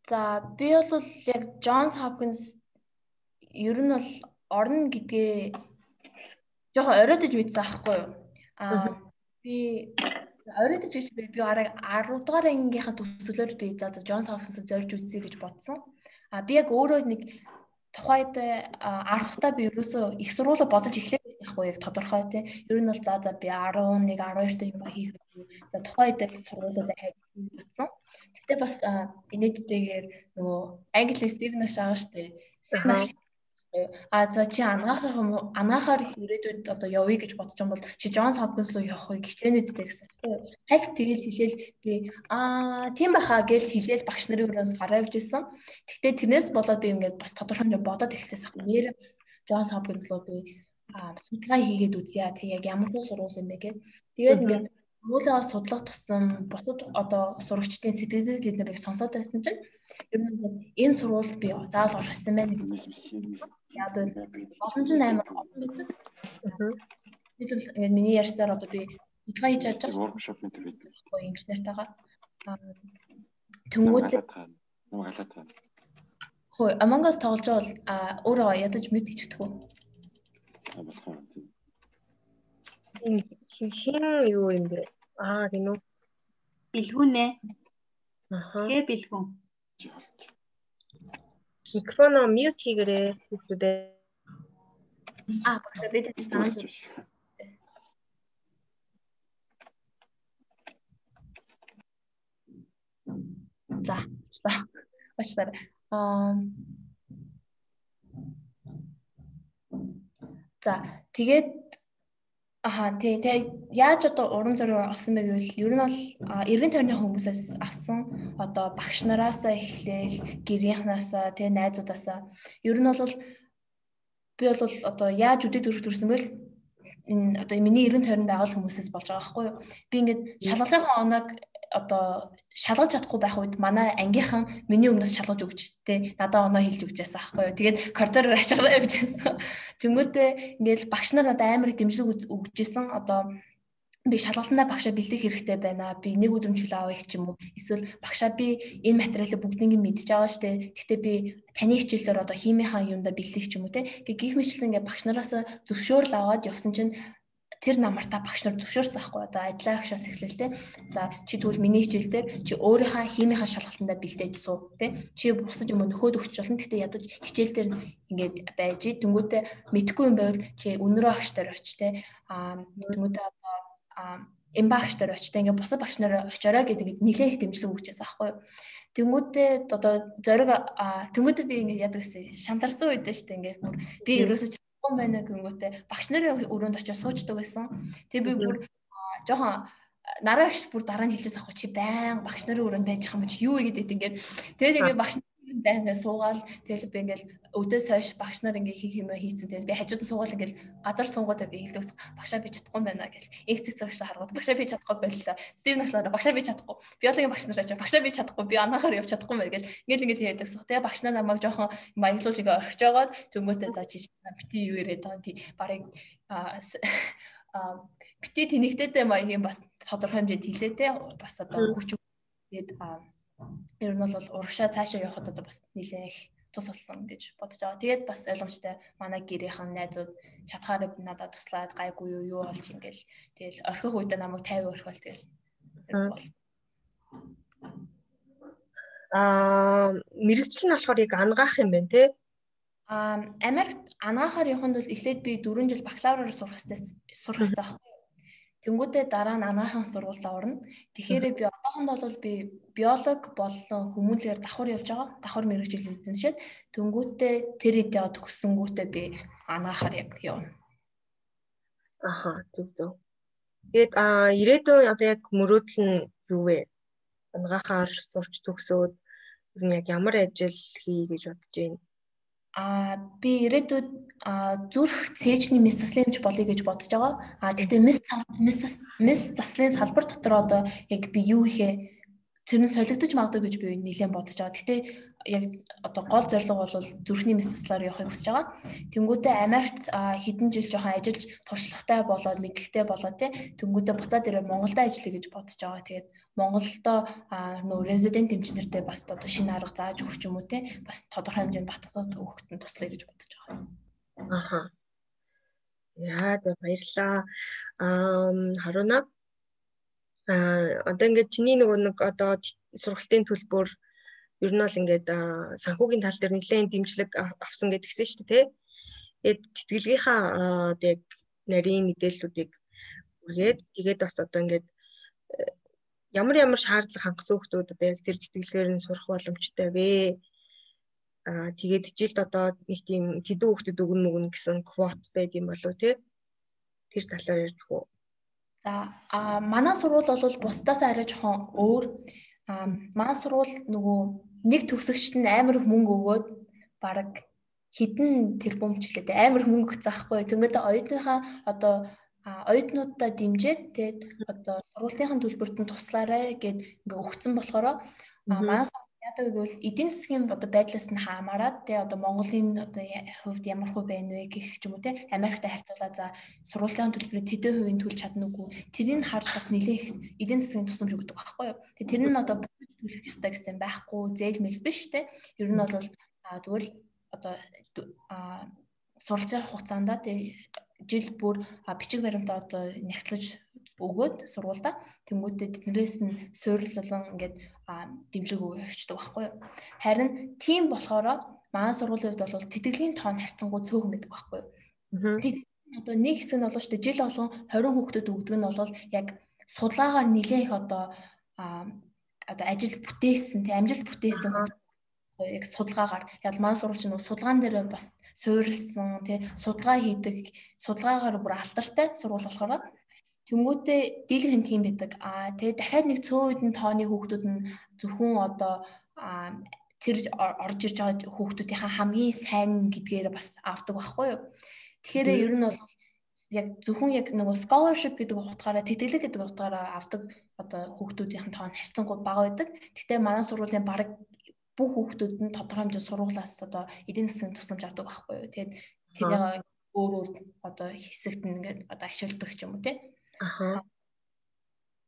За би бол яг Джонс Хопкинс ер нь бол орно гэдгээ жоохон оройтож мэдсэн аахгүй юу? Би оройтож гэж би арай 10 дугаар ангийнхаа төгсгөлөөр би за Джонс Хопкинсыг зорж үзье гэж бодсон. Би яг өөрөө нэг тухайд 10 дахь би ерөөсөө их сургуулаа бодож эхлэх байсан байхгүй яг тодорхой тий. Ер нь бол за би 11 12 та юм хийх. За тухайд сургуулиудаа хайж бодсон. Гэтэ бас инээдтэйгээр нөгөө англи Стивен Наш байгаа штэ. За чи анаахаар ирээдүйд одоо явъя гэж бодож юм бол чи Джонс Хопкинс руу явахыг хичээнэ үстэй гэсэн. Хальт тэгэл хэлээл би тийм баха гэж хэлээл багш нарын өрөөс гараа явж исэн. Гэхдээ тэрнээс болоод би ингээд бас тодорхой юм бодоод эхэлсээс ах. Нэрээ бас Джонс Хопкинс руу би судалгаа хийгээд үзье. Тэг яг ямар хөө сургууль юм бэ гэж. Тэгээд ингээд surгуулиа судлах тусам бусад одоо сурагчдын сэтгэлд бид нарыг сонсоод байсан чинь ер нь бол энэ сургуульд би заавал орох гэсэн байна гэж. Яг л олон ч амар олон байдаг. Би л миний ярьсаар одоо би судалгаа хийж чадж байгаа. Ингэж нартайгаа. Тэнгүүд хөө Among Us тоглож байгаа бол өөрөө ядаж мэд гэж өгдөг. Хин юу юм бэ? Гинөө. Бэлгүүнэ. Хэ бэлгүүн. Микрофоноо мьют хийгээрэй хүүхдүүдээ. Багш бид санаад. За. Баштар. За тэгээд тэгээ яаж одоо урам зориг олсон бэ гэвэл ер нь бол эргэн тойрны хүмүүсээс авсан одоо багш нараасаа эхлээл гэрийнхнаасаа тэгээ найзуудаасаа ер нь бол би бол одоо яаж үдээ төрөх төрсөн бэ энэ одоо миний эргэн тойронд байгаа хүмүүсээс болж байгаа байхгүй юу би ингээд шалгалынхаа оног одоо шалгаж чадахгүй байх үед манай ангийнхан миний өмнөөс шалгаж өгч тэ надад оноо хэлж өгч байсан аахгүй юу. Тэгээд коридороор ачаалаа явж байсан. Тэнгүүтээ ингээл багш нар надад амар их дэмжлэг өгч байсан. Одоо би шалгалтандаа багшаа бэлдэх хэрэгтэй байна. Би нэг өдрөмжлөө авах ч юм уу. Эсвэл багшаа би энэ материалыг бүгднийг мэдж байгаа штэ. Гэхдээ би таны хичээлээр одоо химийнхаа юундаа бэлдэх ч юм уу тэ. Гэх мэтлэн ингээ багш нараас зөвшөөрөл аваад явсан чинь тэр намартаа багш нар зөвшөөрсөн байхгүй одоо ажлаа агшаас эхлэв те. За чи тэгвэл миний хичээл дээр чи өөрийнхөө химийнхаа шалгалтандаа бэлдээж суу те. Чи бусад юм нөхөд өгч болно. Гэхдээ ядаж хичээл дээр ингээд байж тэнгүүтээ мэдхгүй юм байвал чи өнөрөө агш дээр оч те. Тэнгүүтээ одоо эмбагш дээр оч те. Ингээд бусад багш нар очоорой гэдэг ингээд нэлээд их дэмжлэг өгчээс аахгүй юу. Тэнгүүтээ одоо зориг тэнгүүтээ би ингээд яадаг гэсэн шантарсан үед шүү дээ ингээд би ерөөсөж байна гингүүтээ багш нарын өрөөнд очиж суучдаг байсан. Тэгээ би бүр жоохон нараагч бүр дараа нь хэлжээс ахгүй чи байн багш нарын өрөөнд байж байгаа юм чи юу игээд ингээд тэгээд ингээд багш байнга суугаал тэгэл би ингээл өдөөс хойш багш нар ингээ хийх юм хийцэн тэгэл би хажуудаа суугаал ингээл газар суугуудаа би хэлдэг багшаа би чадахгүй байна гэл инкцэг цагш харгууд багшаа би чадахгүй байлаа Стив наслаараа багшаа би чадахгүй биологийн багш нараа ч багшаа би чадахгүй би анахаар явж чадахгүй мэй гэл ингээл ярьдаг тэгээ багш нар намайг жоохон маяглуулж ингээ орхиж жагаад төнгөөтэй за чи бити юу яриад байгаа тий барыг бити тэнэгтэйтэй маягийн бас тодорхой хэмжээнд хилээ те бас одоо хүч тэгээд ер нь бол урагшаа цаашаа явахад одоо бас нэлээд их тус болсон гэж бодож байгаа. Тэгээд бас ойлгомжтой манай гэрийнхэн найзууд чадхаар надад туслаад гайгүй юу болж ингээл тэгэл орхих үедээ намайг 50 орхиол тэгэл мэрэгжил нь болохоор яг ангаах юм байна те. Америкт анаахаар яваханд бол эхлээд би 4 жил бакалавраар сурах хэрэгтэй байхгүй. Тэнгүүдээ дараа нь анаахын сургуульд орно. Тэгэхээр би одоохондоо бол би биолог болон хүмүүнлэгээр давхар явж байгаа. Давхар мэрэгжил эзэмшээд тэнгүүдээ тэр идеа төгссөнгүүтээ би анаахаар яг явна. Аха, зөв. Тэгээд ирээдүйн одоо яг мөрөөдөл нь юу вэ? Анагаахаар сурч төгсөөд ер нь яг ямар ажил хий гэж бодож байна? Би ирээдүйд зүрх цээжний мэс заслын эмч болъё гэж бодож байгаа. Гэхдээ мэс заслын салбар дотор одоо яг би юу ихэ тэр нь солигдож магадгүй гэж би нэлээд бодож байгаа. Гэхдээ яг одоо гол зорилго бол зүрхний мэс заслаар явахыг хүсэж байгаа. Тэнгүүдээ Америкт хэдэн жил жоохон ажиллаж туршлагатай болоод мэдлэгтэй болоод тэнгүүдээ буцаад ирээд Монголд ажиллая гэж бодож байгаа. Тэгээд Монголдо нөө резидент эмчнэртэй бас одоо шинэ арга зааж өгч юм уу те бас тодорхой хэмжээнд батгахад өгөхөд нь туслая гэж бодож байгаа. Аха. Яа, баярлалаа. Харуна. Одоо ингээд чиний нэг одоо сургалтын төлбөр ер нь бол ингээд санхүүгийн тал дээр нэлээд дэмжлэг авсан гэдгсэн шүү дээ, тий. Тэтгэлгийнхаа одоо яг нарийн мэдээллүүдийг үргээд тэгээд бас одоо ингээд ямар шаардлага хангасан хүмүүс одоо яг тэр тэтгэлгээр нь сурах боломжтой вэ? Тэгээд жилд одоо нэг тийм тэдэн хүүхдэд өгнө гэсэн квот байд юм болов тий? Тэр талаар ярьж гоо. За манай сургууль бол бусдаас арай жоохон өөр. Манай сургууль нөгөө нэг төгсөгчд нь амар их мөнгө өгөөд бараг хэдэн тэрбум ч үлээ амар их мөнгө өгцөхгүй. Тэнгүүд оюутныхаа одоо оюутнуудаа дэмжиж тэгээд одоо сургуулийн төлбөрт нь туслаарай гэд ингээ өгцөн болохоор манай яадаг гэвэл эдийн засгийн одоо байдлаас нь хамаарат тий одоо Монголын одоо хувьд ямар хувь байна вэ гэх ч юм уу тий Америктай харьцуулаад за сургуулийн төлбөрийг тэдэн хувийн төлж чадна уугүй тэрийг харж бас нэлээд эдийн засгийн тусламж өгдөг байхгүй юу. Тэгээд тэр нь одоо төлөх ёстой гэсэн байхгүй зээл мэл биш тий ер нь бол зүгээр одоо суралцах хугацаанд тий жил бүр бичиг баримтаа одоо нягтлаж өгөөд сургуультай тэнгүүтээ тэднээс нь суйрлуулан ингээд дэмжиг өгөө явчихдаг байхгүй юу. Харин тийм болохоор манай сургуулийн хувьд бол тэтгэлгийн тоон харьцангуй цөөхөн байдаг байхгүй юу. Тэгээд одоо нэг хэсэг нь болоо шүү дээ жил болгон 20 хүүхдэд өгдөг нь бол яг судалгаагаар нэлээд их одоо ажил бүтээсэн тий амжилт бүтээсэн яг судалгаагаар яг манай сургууль чинь судалгаан дээр бас суурилсан тий судалгаа хийдэг судалгаагаар бүр алтартай сургууль болохоор тэнгүүтээ дийлхэн тийм байдаг. Тэгээ дахиад нэг цөөн үеийн тооны хүүхдүүд нь зөвхөн одоо тэр орж ирж байгаа хүүхдүүдийнхаа хамгийн сайн гэдгээр бас авдаг байхгүй юу. Тэгэхээр ер нь бол яг зөвхөн яг нөгөө scholarship гэдэг утгаараа тэтгэлэг гэдэг утгаараа авдаг одоо хүүхдүүдийн тоон харьцангуй бага байдаг. Гэхдээ манай сургуулийн бараг бүх хүүхдүүд нь тодорхой хэмжээнд сургуулиас одоо эдийн засгийн тусламж авдаг байхгүй юу. Тэгээд тэрийг өөр одоо хэсэгт нь ингээд одоо ашигладаг ч юм уу тий.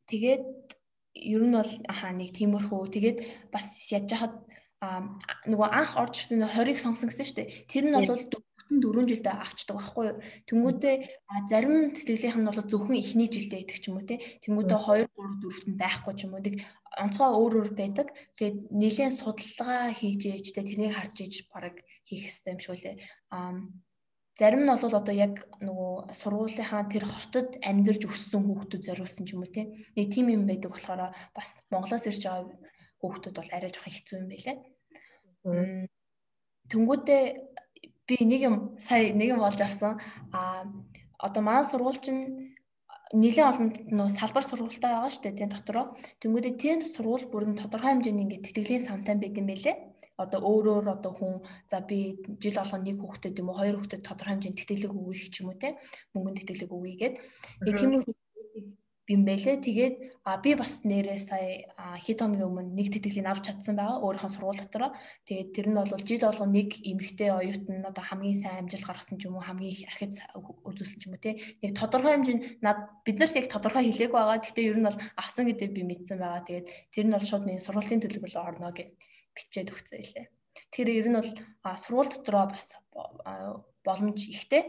Тэгээд ер нь бол нэг тиймэрхүү тэгээд бас яаж яхад нөгөө анх орж ирсэн 20-ыг сонгосон гэсэн шүү дээ. Тэр нь бол 4 жилдээ авчдаг байхгүй юу. Тэнгүүдээ зарим тэтгэлгийнх нь бол зөвхөн эхний жилдээ идэх ч юм уу тий. Тэнгүүдээ 2 3 4-т нь байхгүй ч юм уу. Тэг онцгой өөр байдаг. Тэгээд нэлээд судалгаа хийж ээж тэрнийг харж ээж бараг хийх хэрэгтэй юм шиг үлээ. Зарим нь бол одоо яг нөгөө сургуулийнхаа тэр хотод амьдарч өссөн хүүхдүүд зориулсан ч юм уу тий. Нэг тийм юм байдаг болохоор бас Монголоос ирж байгаа хүүхдүүд бол арай жоохон хэцүү юм байлээ. Тэнгүүдээ би сая нэг юм болж авсан. Одоо манай сургууль чинь нэлээд олон нөө салбар сургуультай байгаа шүү дээ тийм дотроо. Тэнгүүдээ тэр сургууль бүр нь тодорхой хэмжээний ингээд тэтгэлийн самтай байт юм байлээ. одоо өөрөөр одоо хүн за би жил болгоно нэг хүүхдэд юм уу хоёр хүүхдэд тодорхой хэмжээнд тэтгэлэг өгөх ч юм уу те мөнгөнд тэтгэлэг өгье гэд нэг тийм юм байлээ. Тэгээд би бас нэрээ сая хэд хоногийн өмнө нэг тэтгэлгийг авч чадсан байгаа өөрийнхөө сургууль дотороо. Тэгээд тэр нь бол жил болгоно нэг эмэгтэй оюутан одоо хамгийн сайн амжилт гаргасан ч юм уу хамгийн их архиц үзүүлсэн ч юм уу те нэг тодорхой хэмжээнд бид нарт яг тодорхой хэлээгүй байгаа. Гэхдээ ер нь бол авсан гэдэг би мэдсэн байгаа. Тэгээд тэр нь бол шууд миний сургуулийн төлбөрлөө орно гэд бичээд өгсөн илээ. Тэгэхээр ер нь бол сургууль дотроо бас боломж ихтэй.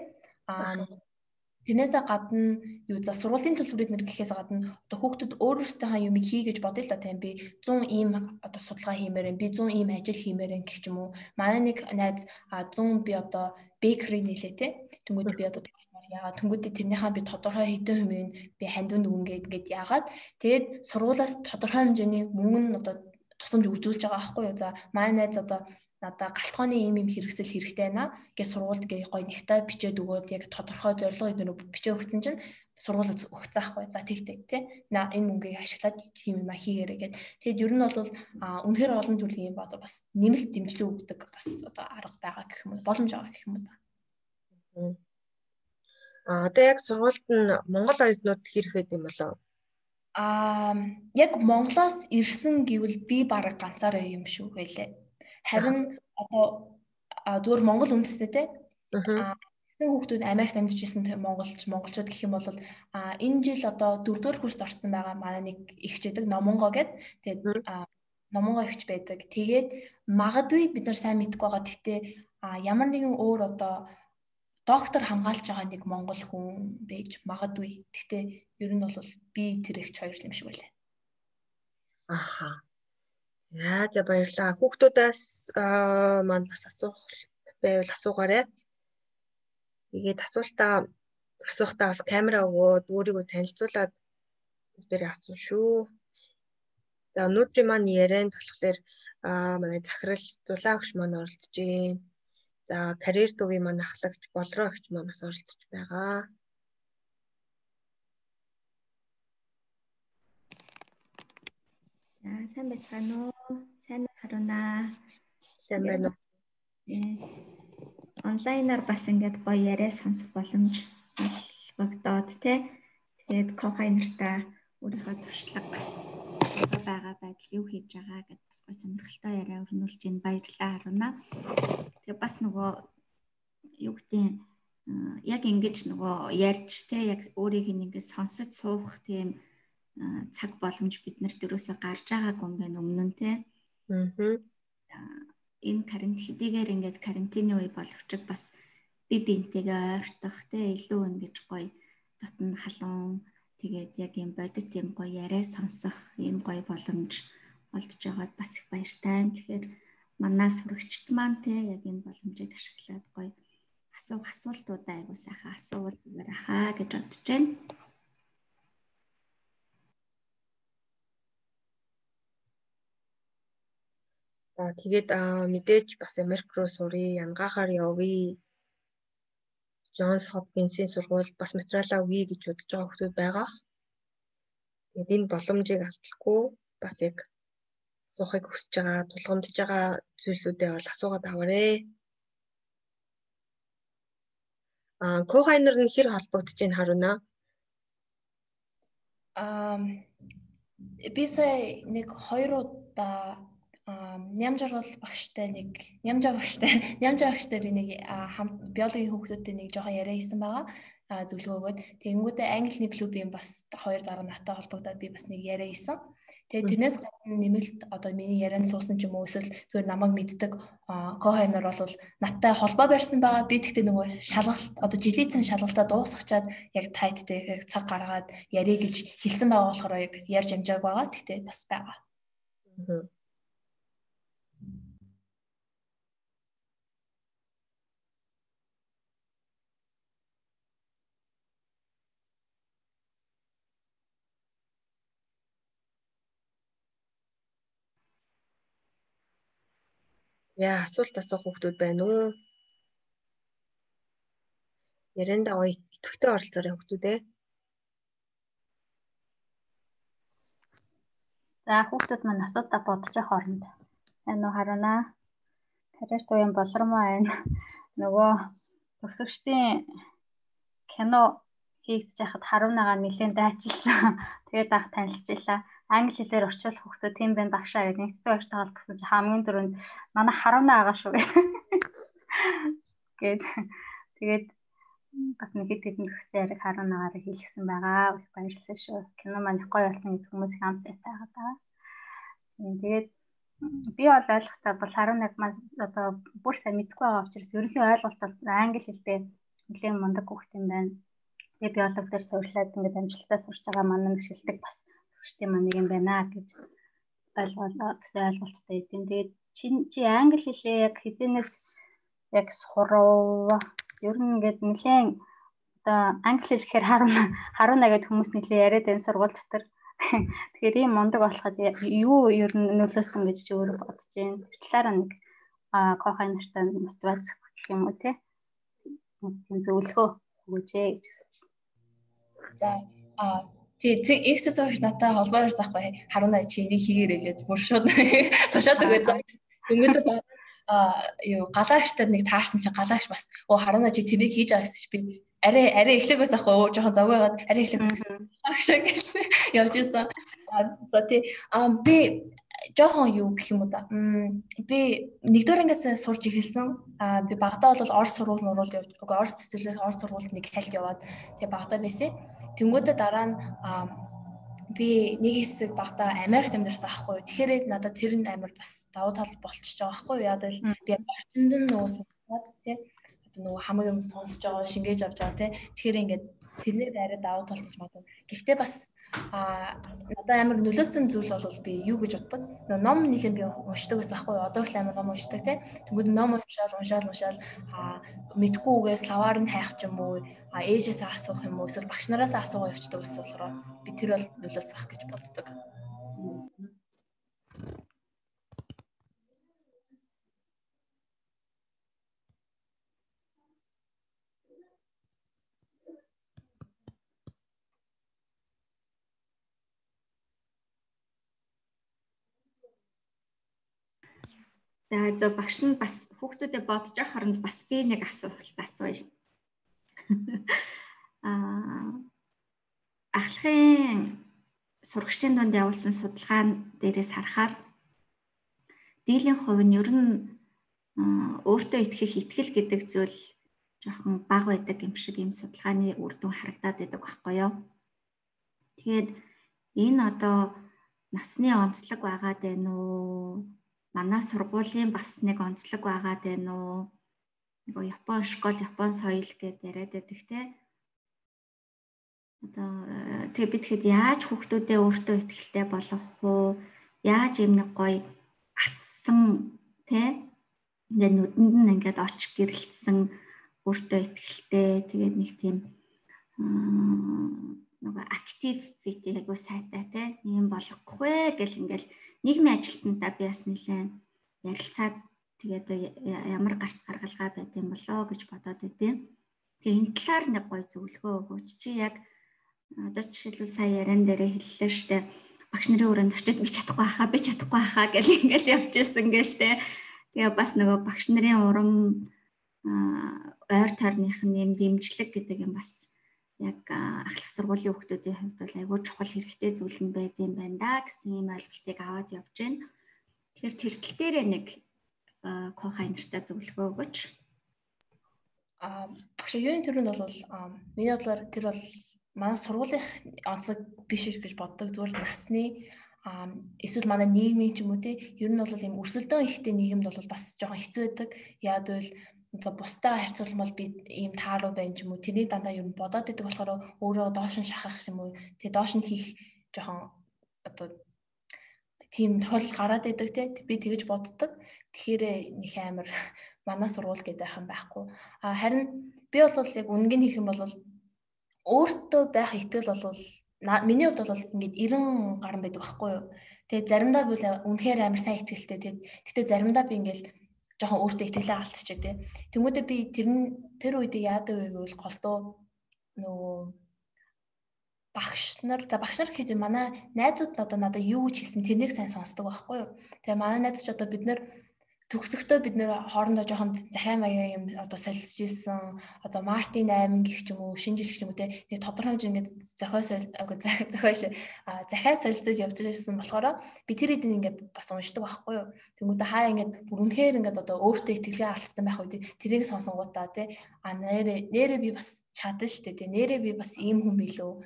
Тэрнээсээ гадна юу за сургуулийн төлбөрүүд нэр гэхээс гадна одоо хүүхдүүд өөрөөсөө юм хий гэж бодъё л та тийм би 100 ийм одоо судалгаа хиймээр би 100 ийм ажил хиймээр гэх юм уу. Манай нэг найз 100 би одоо бэкери нээлээ те. Тэнгүүд би одоо яагаад тэнгүүдээ тэрнийхээ би тодорхой хэдэн хувийн би хандванд өгнгээд ингээд яагаад тэгээд сургуулаас тодорхой хэмжээний мөнгө нь одоо тусамж үзүүлж байгаа байхгүй юу. За манай найз одоо надаа галтгооны ийм хэрэгсэл хэрэгтэй байна гэж сургуульд гээ гоё нэгтэй бичээд өгөөд яг тодорхой зорилго эднэр бичээ өгсөн чинь сургууль өгсөн аахгүй за тэгтэй тий энэ мөнгийг ашиглаад тийм юм хийгээрэй гэд. Тэгэд ер нь бол үнэхээр олон төрлийн юм бод бас нэмэлт дэмжлэг өгдөг бас одоо арга байгаа гэх юм боломж байгаа гэх юм да. Одоо яг сургуульд нь Монгол оюутнууд хэрэгэд юм болоо. Яг Монголоос ирсэн гэвэл би бараг ганцаараа юм шүү байлээ. Харин одоо зүгээр Монгол үндэстэй те. Нэг хүүхдүүд Америкт амьдарч ирсэн монголчууд гэх юм бол энэ жил одоо 4-р курс орсон байгаа манай нэг ихчээдэг Номонго гэд. Тэгээд Номонго ихч байдаг. Тэгээд магадгүй бид нар сайн мэдэхгүй байгаа. Гэхдээ ямар нэгэн өөр одоо доктор хамгаалж байгаа нэг монгол хүн байж магадгүй. Гэхдээ ер нь бол би тэр ихч хоёр юм шиг байлаа. Аха. За баярлалаа. Хүүхдүүдээс маань бас асуулт байвал асуугаарай. Тэгээд асуухдаа бас камера өгөөд өөрийгөө танилцуулаад бидэрээ асуу шүү. За өнөөдрийн маань ярианд болохоор манай захирал Зулаа өгч маань оролцож байна. За карьер төвийн маань ахлагч Болроо өгч маань бас оролцож байгаа. Сайн байцгаана уу? Сайн харуунаа. Сайн байна уу? Онлайнаар бас ингээд гоё яриа сонсох боломж олгогдоод тий. Тэгээд Кохай нартаа өөрийнхөө туршлага байгаа байдал юу хийж байгаа гэдээ бас гоё сонирхолтой яриа өрнүүлж байна. Баярлалаа харуунаа. Тэгээд бас нөгөө юу гэдэг яг ингэж нөгөө ярьж тий яг өөрийг ингээд сонсож суух тийм цаг боломж бид нарт өрөөсөө гарч байгаагүй юм байна өмнө нь тий. Энэ хэдийгээр ингээд карантины үе боловч бас би бинтэйгээ ойртох тий илүү ингэж гоё дотн халуун тэгээд яг юм бодит юм гоё яриа сонсох юм гоё боломж олдж байгаад бас их баяртай. Тэгэхээр манай сурагчд маань тий яг энэ боломжийг ашиглаад гоё асуултуудаа айгуу сайхан асуувал зүгээр ахаа гэж бодож байна. Тэгээд мэдээж бас Америк руу сурыг, янгаахаар явъя. Джонс Хопкинсийн сургуульд бас материалаа өгье гэж бодож байгаа хүмүүс байгаа. Тэгээд энэ боломжийг алдахгүй бас яг суухыг хүсэж байгаа, тулгамдж байгаа зүйлсүүдээ бол асуугаад аваарэ. Кохайнер нь хэр холбогдож байна харуунаа? Би сая нэг 2 удаа нямжаар бол багштай би нэг биологийн хүүхдүүдтэй нэг жоохон яриа хийсэн байгаа зөвлөгөөгөөд тэгэнгүүтээ англи клубын бас 2 дараа наттай холбогдоод би бас нэг яриа хийсэн. Тэгээд тэрнээс гадна нэмэлт одоо миний ярианд суусан ч юм уу эсвэл зүгээр намайг мэддэг Кохайнер бол наттай холбоо барьсан байгаа. Би тэгтээ нөгөө шалгалт одоо жилийн цан шалгалтаа дуусгачаад яг тайттай яг цаг гаргаад ярих гэж хэлсэн байгаа болохоор яг ярьж амжааг байгаа. Тэгтээ бас байгаа. Яа, асуулт асуух хүмүүс байна уу? Ярианда гоё идэвхтэй оролцоорой хүмүүсээ. За хүүхдүүд маань асуудаа бодож явах оронд. Энэ харуунаа. Карьер туян болромоо байна. Нөгөө төгсөгчдийн кино хийгдэж байхад Харунагаа нэлээд дайчилсан. Тэгээд анх танилцчихлаа. Англи хэлээр орчуулах хүмүүс тийм байна багшаа гэдэг нэгдсэн багштай холбосон чи хамгийн түрүүнд манай Харуна агаа шүү тэгээд бас нэг хэд хэдэн төгсөж яриг Харунагаараа хийлгсэн байгаа. Баярлалаа шүү. Кино маань гоё болсон гэж хүмүүс хаан сайтай байгаа. Тэгээд би бол ойлгохтой бол Харунаг маань одоо бүр сайн мэдгүй байгаа учраас ерөнхий ойлголт бол англи хэлтэй нэлээд мундаг хүүхэд юм байна. Тэгээд биолог дээр сурлаад ингээд амжилттай сурч байгаа манай нэг шилдэг бас төгсчтэй маань нэг юм байна гэж ойлголттой идэв. Тэгээд чи англи хэлээ яг хизэнээс яг сурав. Ер нь ингээд нэлээд одоо англи хэл гэхээр Харуна гэдэг хүмүүс нэлээд яриад байна сургууль дотор. Тэгэхээр ийм мундаг болоход юу ер нь нөлөөсөн гэж чи өөрөө бодож байна. Тэр талаараа нэг кохай нартай мотивац гэх юм уу те. Тийм зөвлөгөө өгөөч гэж хүсэж байна. За тийм эксэсэгч надтай холбоо ярьж байхгүй Харуна чи энийг хийгээрэй гэж бүр шууд тушаад өгөө. Өнгөд юу галагчтад нэг таарсан чи галагч бас Харуна чи тэрийг хийж байгаа гэсэн чи би арай эхлэх байсан ахгүй жоохон завгүйгаад арай эхлэх гэсэн явж исэн. За тий би жоохон юу гэх юм уу да. Би нэгдүгээр ангиас сурж эхэлсэн. Би багадаа бол орс сургууль явж орс цэцэрлэг орс сургуульд нэг хальт яваад тэгээ багадаа байсан. Тэнгүүдээ дараа нь би нэг хэсэг багадаа Америкт амьдарсан аахгүй. Тэгэхээр надад тэр нь амар бас давуу тал болчихж байгаа аахгүй. Яг л би орчинд нь нуусан тий нөгөө хамаг юм сонсож байгаа шингээж авч байгаа тий. Тэгэхээр ингээд тэрнээ арай давуу тал гэж бодов. Гэхдээ бас надад амар нөлөөсөн зүйл бол би юу гэж боддог. Нөгөө ном нэлийн би уншдаг байсан аахгүй. Одоо л амар ном уншдаг тий. Тэгвэл ном уншаал мэдгүйгээс саваар нь хайх ч юм уу, ээжээс асуух юм уу, эсвэл багш нараас асуугаа явчихдаг гэсэн болохоор би тэр бол нөлөөлсөх гэж боддог. За багш нь бас хүүхдүүдэд бодож байгаа хооронд бас би нэг асуулт асууя. Ахлахын сурагчдын дунд явуулсан судалгаан дээрээс харахаар дийлэн хувь нь ер нь өөртөө итгэл гэдэг зүйл жоохон бага байдаг юм шиг ийм судалгааны үр дүн харагдаад байдаг байхгүй юу. Тэгээд энэ одоо насны онцлог байгаад байна уу? Манай сургуулийн бас нэг онцлог байгаад байна уу? Нөгөө Япон школ, Япон соёл гэдээ яриад байдаг те. Одоо тэгээ би тэгэхэд яаж хүүхдүүдээ өөртөө итгэлтэй болгох уу? Яаж юм нэг гоё асан те? Ингээд нүдэнд нь ингээд оч гэрэлтсэн өөртөө итгэлтэй тэгээд нэг тийм нөгөө activity айгуу сайтай те. Ийм болгох вэ гэл ингээл нийгмийн ажилтнуудаа би бас нэлээд ярилцаад тэгээд ямар гарц гаргалгаа байд юм болоо гэж бодоод байдیں۔ Тэгээ энэ талаар нэг гоё зөвлөгөө өгөөч. Чи яг одоо жишээлбэл сая яран дээрээ хэллээ штэ. Багш нарын өрөөнд очиж би чадахгүй хаа гэл ингээл явчихсан гэлтэй. Тэгээ бас нөгөө багш нарын урам ойр тойрных нь юм дэмжлэг гэдэг юм бас яг ахлах сургуулийн хүүхдүүдийн хувьд бол айгүй чухал хэрэгтэй зүйл нь байд юм байна да гэсэн ийм ойлголтыг аваад явж байна. Тэгэхээр тэр тал дээрээ нэг кохай нартай зөвлөгөө өгөөч. Багш юуны төрөнд бол миний бодлоор тэр бол манай сургуулийн онцлог биш гэж боддог. Зүгээр насны эсвэл манай нийгмийн ч юм уу те ер нь бол ийм өрсөлдөөн ихтэй нийгэмд бол бас жоохон хэцүү байдаг. Яад бол бусдаа харьцуулмал би ийм тааруу байна ч юм уу тэрний дандаа ер нь бодоод идэг болохоор өөрөө доош нь шахах юм уу тэгээ доош нь хийх жоохон одоо тийм тохиолдол гараад идэг те би тэгэж боддог. Тэгэхээр нэг амар манай сургууль гэдэг юм байхгүй. Харин би бол яг үнэнг нь хэлэх юм бол өөртөө байх итгэл бол миний хувьд бол ингээд 90 гаруй байдаг байхгүй юу. Тэгээ заримдаа бол үнэхээр амар сайн итгэлтэй тэгтээ заримдаа би ингээд жоохон өөртөө итгэлээ алдчихжээ тий. Тэнгүүдээ би тэр үед яадаг вэ гэвэл голдуу нөгөө багш нар гэхэд манай найзууд одоо надад юу гэж хэлсэн тэрнийг сайн сонсдог байхгүй юу. Тэгээ манай найз ч одоо бид нэр төгсөхдөө бид нэр хоорондоо жоохон захиа маяа юм одоо солилцож исэн одоо Мартин 8 гэх ч юм уу шинэ жил гэх юм уу те тодорхой хэмжээнд захиа солилцож явж байсан болохоор би тэр хэдийн ингээд бас уншдаг байхгүй юу. Тэнгүүдээ хаа ингээд бүр үнэхээр ингээд одоо өөртөө итгэлээ алдсан байх үед тэрийг сонсонгуудаа те нэрээ би бас чадсан шүү дээ те нэрээ би бас ийм хүн билүү.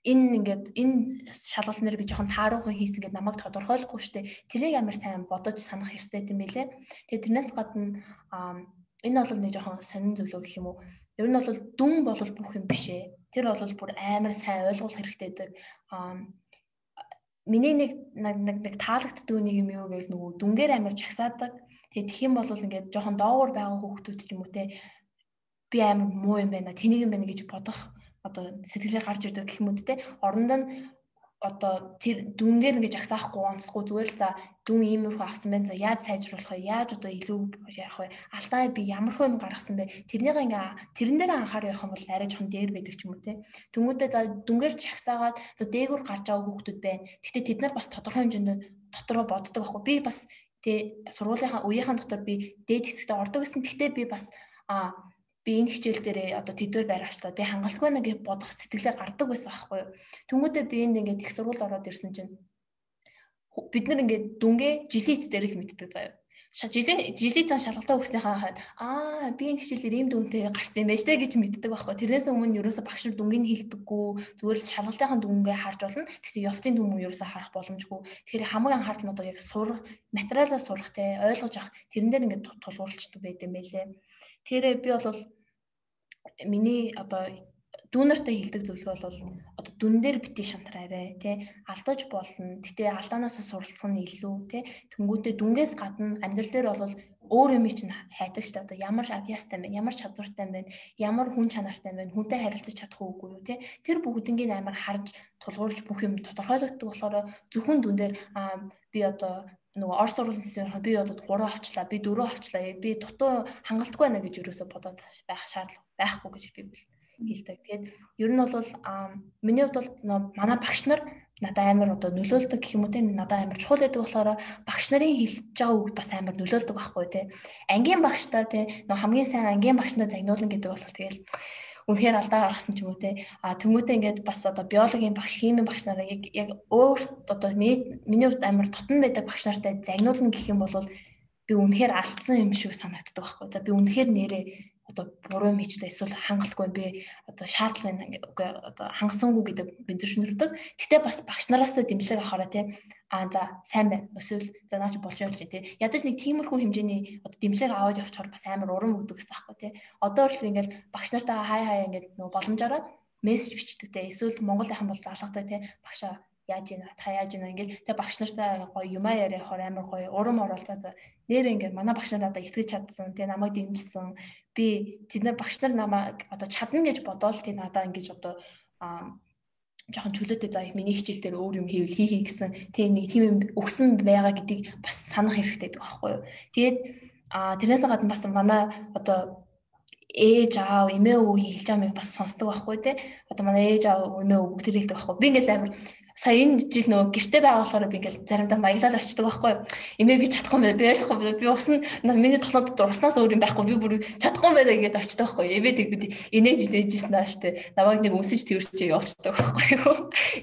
Энэ шалгалт нэр би жоохон тааруухан хийсэн гэдээ намайг тодорхойлохгүй штэ. Тэрийг амар сайн бодож санах ёстой юм билэ. Тэгээ тэрнээс гадна энэ бол нэг жоохон сонин зөвлөө гэх юм уу. Ер нь бол дүн бол бүх юм биш ээ. Тэр бол бүр амар сайн ойлгох хэрэгтэй гэдэг. Миний нэг таалагддаг нэг юм юу гэвэл нөгөө дүнгээр амар жагсаадаг. Тэгээ тэх юм бол ингээд жоохон доогуур байгаа хүүхдүүд ч юм уу те би амар муу юм байна. Тэнийг юм байна гэж бодох одоо сэтгэлээ гарч ирдэг гэх юм үү те орондоо нь одоо тэр дүнгээр ингэж агсаахгүй онцгүй зүгээр л за дүн иймэрхүү авсан байна за яаж сайжруулах вэ яаж одоо илүү яах вэ алдаа би ямархуу юм гаргасан бэ тэрнийг ингээ тэрэн дээр анхаар явах юм бол арай жоохон дээр байдаг ч юм уу те тэнгүүтээ за дүнгээр жагсаагаад за дээгүүр гарч байгаа хүүхдүүд байна гэхдээ тэд нар бас тодорхой хэмжээнд дотроо боддог байхгүй би бас тэ сургуулийнхаа үеийнхэн дотор би дээд хэсэгтээ ордог гэсэн гэхдээ би бас би энэ хичээл дээр одоо тэдвэр байр авчлаа. Би хангалтгүй нэг бодох сэтгэлээ гардаг байсан байхгүй юу. Тэнгүүдээ би энд ингээд их сургууль ороод ирсэн чинь бид нар ингээд дүнгээ жилийн эцээр л мэддэг заяа. Жилийн цаан шалгалтаа өгснийхаа хойд би энэ хичээлээр ийм дүнтэй гарсан юм байж тээ гэж мэддэг байхгүй. Тэрнээс өмнө ерөөсө багш нар дүнгийг хэлдэггүй. Зүгээр л шалгалтынхаа дүнгээ харж болно. Гэхдээ явцын дүн ерөөсө харах боломжгүй. Тэгэхээр хамгийн анхаарал нь одоо яг сурах, материалаа сурах те ойлгож авах тэрэн дээр ингээд тулгуурлцдаг байт юм байлээ. Тэгэхээр би бол миний одоо дүүнартай хэлдэг зөвлөгөө бол одоо дүн дээр битгий шантраарэ тий алдаж болно. Гэтэ алдаанаас суралцах нь илүү тий тэнгүүтээ дүнгээс гадна амьдрал дээр бол өөр юм чинь хайдаг штэ одоо ямар авьяастай байна, ямар чадвартай байна, ямар хүн чанартай байна, хүнтэй харилцаж чадах уугүй юу тий тэр бүгднийг амар харж тулгуурлаж бүх юм тодорхойлогддог болохоор зөвхөн дүн дээр би одоо нөгөө орс сургуулийн би одоо 3 авчлаа, би 4 авчлаа, би дутуу хангалтгүй байна гэж ерөөсө бодоод байх шаардлага байхгүй гэж би хэлдэг. Тэгээд ер нь бол миний хувьд бол манай багш нар надад амар одоо нөлөөлдөг гэх юм уу те надад амар чухал байдаг болохоор багш нарын хэлж байгаа үг бас амар нөлөөлдөг байхгүй те. Ангийн багштай те нөгөө хамгийн сайн ангийн багшнаа загнуулна гэдэг бол тэгэл үнэхээр алдаа гаргасан ч юм уу те тэнгуүтээ ингээд бас одоо биологийн багш химийн багш нараа яг өөрт одоо миний хувьд амар тутан байдаг багш нартай загнуулна гэх юм бол би үнэхээр алдсан юм шиг санагддаг байхгүй. За би үнэхээр нэрээ одоо буруу юм хийчлээ эсвэл хангалтгүй би одоо шаардлагын одоо хангасангүй гэдэг мэдэрчнэрдэг. Гэтэ бас багш нараас дэмжлэг авахаараа те за сайн байна. Эсвэл за наач болж явж те. Ядаж нэг тиймэрхүү хэмжээний одоо дэмжлэг аваад явчихаар бас амар урам өгдөг гэсэн аахгүй те. Одоо л ингээл багш нартаа хаяа ингээд нөгөө боломжоор мессеж бичдэг те. Эсвэл Монголынхан бол залгадаг те. Багшаа яаж ийна та яаж ийна ингээл тэгээ багш нартай гоё юмаа яриа явахаар амар гоё урам оролцоо за нэр ингээд манай багш нар надад итгэж чадсан тэгээ намайг дэмжсэн би тэд нар багш нар намайг одоо чадна гэж бодоол тэгээ надаа ингээд одоо жоохон чөлөөтэй за миний хичээл дээр өөр юм хийвэл хий гэсэн тэгээ нэг тийм юм өгсөн байгаа гэдгийг бас санах хэрэгтэй байдаг байхгүй юу тэгээд тэрнээс гадна бас манай одоо ээж аав эмээ өвөө хэлж байгаа юм бас сонсдог байхгүй те одоо манай ээж аав эмээ өвөө бүгд хэлдэг байхгүй би ингээд амар сая энэ жил нөгөө гэрте байгаа болохоор би ингээл заримдаа маялал очдөг байхгүй эмээ би чадахгүй байна би ойлгохгүй би ус нь миний толгойд дотор уснаас өөр юм байхгүй би бүр чадахгүй байна гэдээ очдөг байхгүй эмээ тэгвэл инээж нээжсэн нааш те намайг нэг үнсэж тэрчээ явуулдаг байхгүй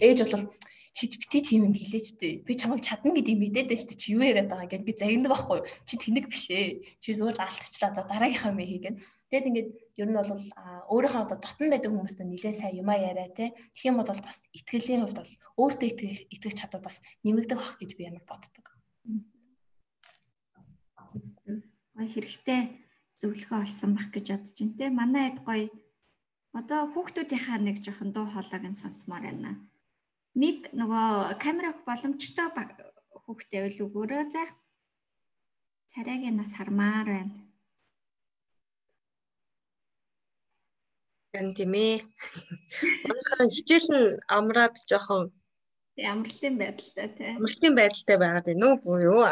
ээж бол чи бити тийм юм хэлээч дээ би чамайг чадна гэдгийг мэдээд штэ чи юу яриад байгаа гэдгийг загнадаг байхгүй чи тэнэг биш ээ чи зүгээр алдчихлаа за дараагийнхаа мэ хийгээд тэгэд ингээд ер нь бол өөрийнхөө одоо дотн байдаг хүмүүстэй нэлээд сайн юмаа яриа те тэгэх юм бол бас итгэлийн хувьд бол өөртөө итгэх чадвар бас нэмэгдэх бах гэж би амар боддог. Гоё хэрэгтэй зөвлөгөө олсон бах гэж бодож байна те манай хэд гоё одоо хүүхдүүдийнхаа нэг жоохон дуу хоолойг нь сонсомоор байна. Нэг нөгөө камер авах боломжтой хүүхдээ үл өгөөрөө за царайг нь бас хармаар байна. Гэн тийм ээ. Манайхаа хичээл нь амраад жоохон Амралтын байдалтай тий. Амралтын байдалтай байгаад байна уу буюу?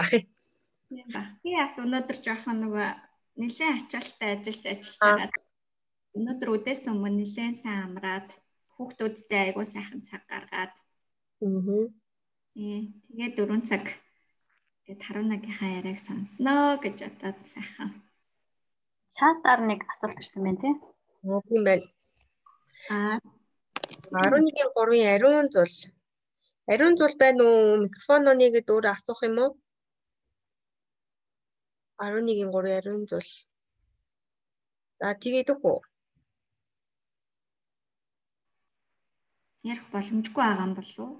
Тийм ба. Би бас өнөөдөр жоохон нөгөө нэлээд ачаалттай ажиллаж байгаа. Өнөөдөр үдээс өмнө нэлээд сайн амраад хүүхдүүдтэй айгуу сайхан цаг гаргаад. Тэгээд 4 цаг Тэгээд Харунагийнхаа яриаг сонсноо гэж бодоод сайхан. Чатаар нэг асуулт ирсэн байна тий. Тийм байна. 11-ийн 3-ын ариун зул. Ариун зул байна уу? Микрофон оныгээд өөрөө асуух юм уу? 11-ийн 3-ын ариун зул. За тэгээд өгөх үү? Ярих боломжгүй байгаа юм болов уу?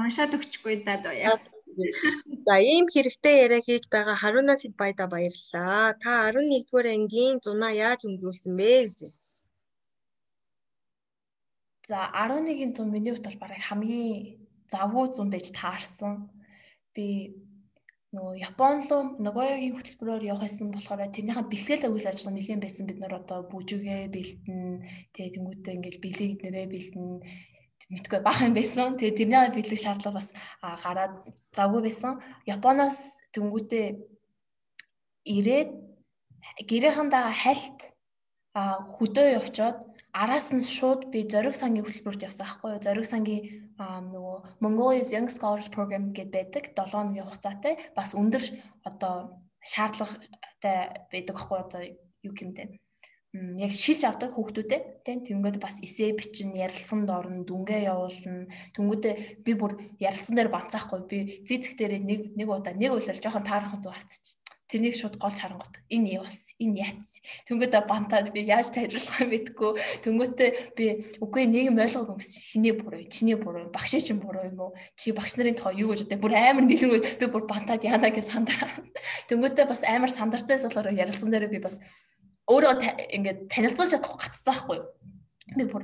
Уншаад өгчихгүй даа яа. За ийм хэрэгтэй яриа хийж байгаа Харунаас баяда баярлалаа. Та 11-р ангийн зунаа яаж өнгөрүүлсэн бэ гэж. За 11-ийн зун миний хувьд бол бараг хамгийн завгүй зун байж таарсан. Би нөгөө Япон руу Нагоягийн хөтөлбөрөөр явахсан болохоор тэрнийхээ бэлтгэл үйл ажиллагаа нэлээд байсан. Бид нар одоо бүжигээ бэлтэн, тэгээ тэнгуүтээ ингээл бэлэг нэрээ бэлтэн мэдгүй бах юм байсан. Тэгээ тэрний бэлэг шаардлага бас гараад завгүй байсан. Японоос тэнгуүтээ ирээд гэрээхэндээ хальт хөдөө явчоод араас нь шууд би зориг сангийн хөтөлбөрт явсан байхгүй юу. Зориг сангийн нөгөө Mongolia's Young Scholars Program гэдэг байдаг. 7 хоногийн хугацаатай бас өндөр одоо шаардлагатай байдаг байхгүй одоо юу гэмтэй. Яг шилж авдаг хүүхдүүдэд тэнгүүд бас эсээ бичин ярилцсанд орно, дүнгээ явуулна. Тэнгүүдээ би бүр ярилцсан дээр банцаахгүй. Би физик дээр нэг удаа нэг үйлэр жоохон таарахад хавцчих. Тэрнийг шууд голж харангуут. Энэ юу болсон? Энэ яац. Тэнгүүдээ бантаад би яаж тайлбарлах юм мэдгүй. Тэнгүүдээ би үгүй нэг юм ойлгоогүй юм гэсэн. Хинээ буруу, чиний буруу, багшийн чинь буруу юм уу? Чи багш нарын тухай юу гэж боддог? Бүр амар дэлгэргүй. Би бүр бантаад яана гэж сандраа. Тэнгүүдээ бас амар сандарцаас болохоор ярилцсан дээр би бас өөрөө ингээд танилцуулж чадахгүй гацсан байхгүй. Би бүр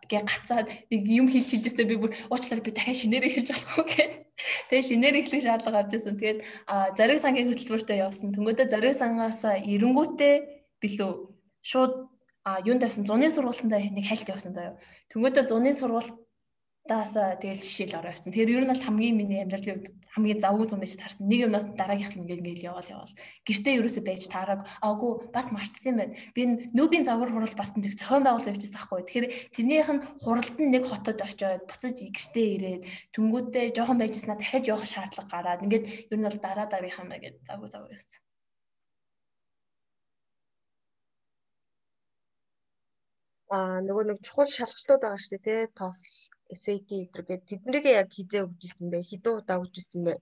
гээ гацаад нэг юм хэлжсэн би бүр уучлаарай би дахиад шинээр эхэлж болохгүй гэх. Тэгээ шинээр эхлэх шаардлага гарч ирсэн. Тэгээд зориг сангийн хөтөлбөртөө явсан. Тэнгүүдээ зориг сангаас эренгүүтээ билүү шууд юунд тавьсан зуны сургалтанд нэг хальт явсан даа. Тэнгүүдээ зуны сургалтаас тэгэл жишээл ороо явсан. Тэгэхээр ер нь бол хамгийн миний амьдралын үед хамгийн завгүй зун байж таарсан. Нэг юмнаас дараагийнх нь ингээл яваал. Гэртээ ерөөсөө байж таараг. Аагүй бас мартсан юм байна. Би нүүбийн загвар хурал бас нэг зохион байгуулалт явчихсан байхгүй. Тэгэхээр тэрнийх нь хуралд нь нэг хотод очиод буцаж гэртээ ирээд тэнгүүдээ жоохон байжснаа дахиад явах шаардлага гараад ингээд ер нь бол дараагийнхаа гээд завгүй явсан. Нөгөө нэг чухал шалгалтууд байгаа шүү дээ, тий. TOEFL, SAT гэдэг тэднийг яг хизээ өгчихсэн бэ? Хэдэн удаа өгчихсэн бэ?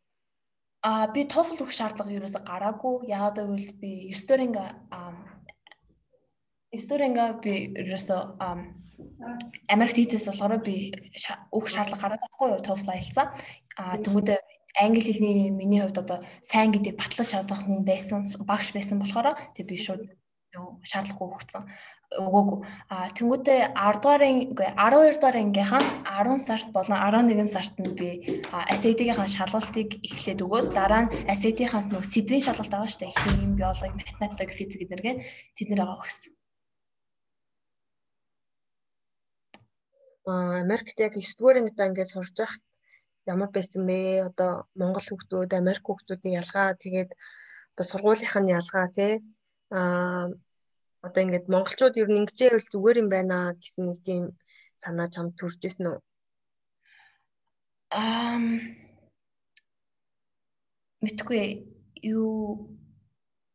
Би TOEFL өгөх шаардлага ерөөсө гараагүй. Яагаад гэвэл би 9 дуурайнга би ерөөсө Америкт хийцээс болохоор би өгөх шаардлага гараад байхгүй юу TOEFL аялцаа. Тэнгүүдээ англи хэлний миний хувьд одоо сайн гэдэг батлаж чадах хүн байсан, багш байсан болохоор тэг би шууд шаардлагагүй өгсөн. Өгөөгүй. Тэнгүүдээ 12 дугаар ангийнхаа 10 сард болон 11 сард нь би SAT-ийн шалгалтыг эхлээд өгөөд дараа нь SAT-ийнхаас нөгөө сэдвийн шалгалт байгаа шүү дээ. Хим, биологи, математик, физик гэдэргээ тэднэрээ өгсөн. Америкт яг 9 дугаар ангидаа ингээд сурж байхад ямар байсан бэ? Одоо Монгол хүүхдүүд, Америк хүүхдүүдийн ялгаа тэгээд одоо сургуулийнх нь ялгаа тий. Одоо ингээд монголчууд ер нь ингэж байвал зүгээр юм байна гэсэн нэг тийм санаа чамд төрж ирсэн үү? Мэдгүй юу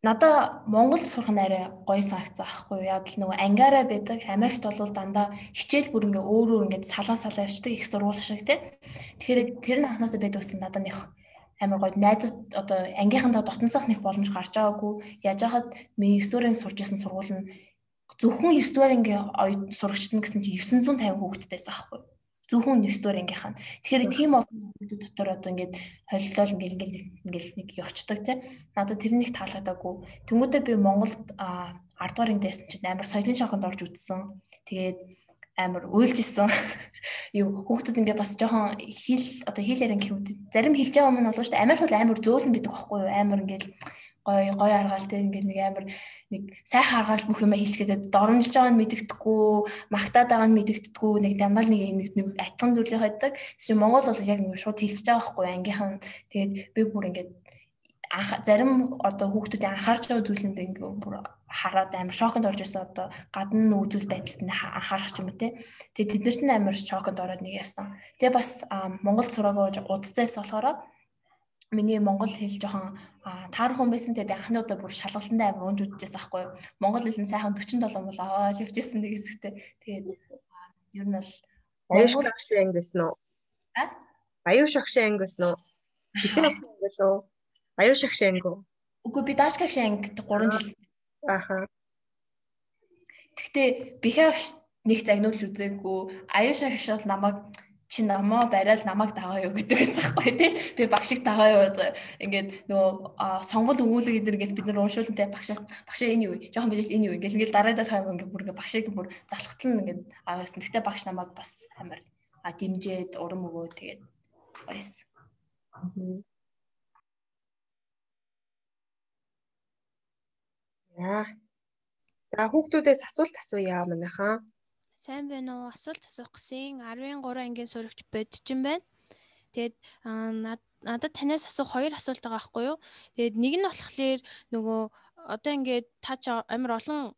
надаа Монгол сурах нь арай гоё санагцсан аахгүй юу? Яг л нөгөө ангиараа байдаг. Америкт бол дандаа хичээл бүр ингээ өөр ингээ салаа явчихдаг их сургууль шиг тий. Тэгэхээр тэр нь анханасаа байдаг гэсэн надад нэг амар гоё найзууд одоо ангийнхандаа дотносох нэг боломж гарч байгаагүй. Яаж яхад миний 9 дуурын сурж исэн сургууль нь зөвхөн 9 дуурын ингээ сурагчдаа гэсэн чинь 950 хүүхэдтэйсэн аахгүй. Зөвхөн 9 дуурын ангийнхан. Тэгэхээр тийм олон хүүхдүүд дотор одоо ингээд холилол ингээл нэг явцдаг тий. Надад тэр нэг таалагдаагүй. Тэнгүүдээ би Монголд 10 дуурын дэсэн чинь амар соёлын шоконд орж үзсэн. Тэгээд амар уйлжсэн. Юу хүүхдүүд ингээ бас жоохон хэл ярин гэхүүд зарим хэлж байгаа юм нь болов шүү дээ. Америкт бол амар зөөлөн бидэг байхгүй юу? Амар ингээл гоё аргаалтай ингээл нэг амар нэг сайхан аргаал бүх юм хэлчихээд доромжж байгаа нь мэдэгдэхгүй, магтаад байгаа нь мэдэгдэхгүй, нэг дандаа нэг атган дүрлэх байдаг. Тэсээ Монгол бол яг нэг шууд хэлж байгаа байхгүй юу? Ангийнхан тэгээд би бүр ингээд зарим одоо хүүхдүүдийн анхаарч байгаа зүйл нь ингээ бүр хараад амар шоконд орж ирсэн одоо гадна үзэл байдалд нь анхаарах ч юм уу те. Тэгээд тэднэрт нь амар шоконд ороод нэг яасан. Тэгээ бас Монгол сураагаа удацаас болохоор миний монгол хэл жоохон таархан байсан. Тэгээ би анхны удаа бүр шалгалтандаа амар унж үзчихсэн байхгүй юу. Монгол хэл нь сайхан 47 бол аваад явчихсан нэг хэсэгтэй. Тэгээд ер нь бол аюуш шагшин анги гэсэн үү? Аюуш шагшин анги гэсэн үү? Бишээ анги гэсэн үү? Аюуш шагшин анги үү? Үгүй би дааш шагшин анги 3 жил. Аха. Гэхдээ бихээ нэг загнуулж үзээгүй. Аюуш шагш бол намайг чи намаа барайл намайг дагаа юу гэдэг байсан байхгүй тий. Би багшиг дагаа юу ингээд нөгөө сонгол өгүүлэг эдэр гэж бид нар уншуулнтай багшаа энэ юу жоохон bijil энэ юу ингээл дараадаг хайм ингээд бүр ингээд багшиг бүр залхтал нь ингээд аваасан. Гэхдээ багш намайг бас амар дэмжээд урам өгөө тэгээд байсан. Яа. За хүүхдүүдээс асуулт асууя манайхаа. Сайн байна уу? Асуулт асуух гэсэн 13 ангийн сурагч бодчин байна. Тэгээд надад танаас асуух 2 асуулт байгаа байхгүй юу? Тэгээд нэг нь болохоор нөгөө одоо ингээд та ч амар олон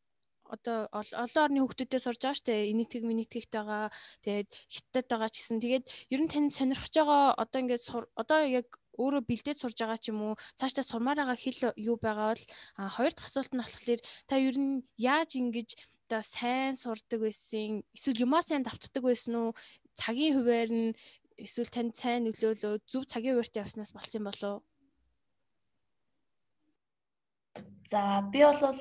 одоо олон орны хүүхдүүдтэй сурж байгаа штэ. Энэтхэг минэтхэгт байгаа. Тэгээд хятад байгаа ч гэсэн. Тэгээд ер нь тань сонирхож байгаа одоо ингээд одоо яг өөрөө бэлдээд сурж байгаа ч юм уу? Цаашдаа сурмаар байгаа хэл юу байгаа бол хоёр дахь асуулт нь болохоор та ер нь яаж ингэж одоо сайн сурдаг байсан эсвэл юмаа сайн давтдаг байсан уу цагийн хуваар нь эсвэл танд сайн нөлөөлөө зөв цагийн хуваартай явснаас болсон юм болов уу? За би бол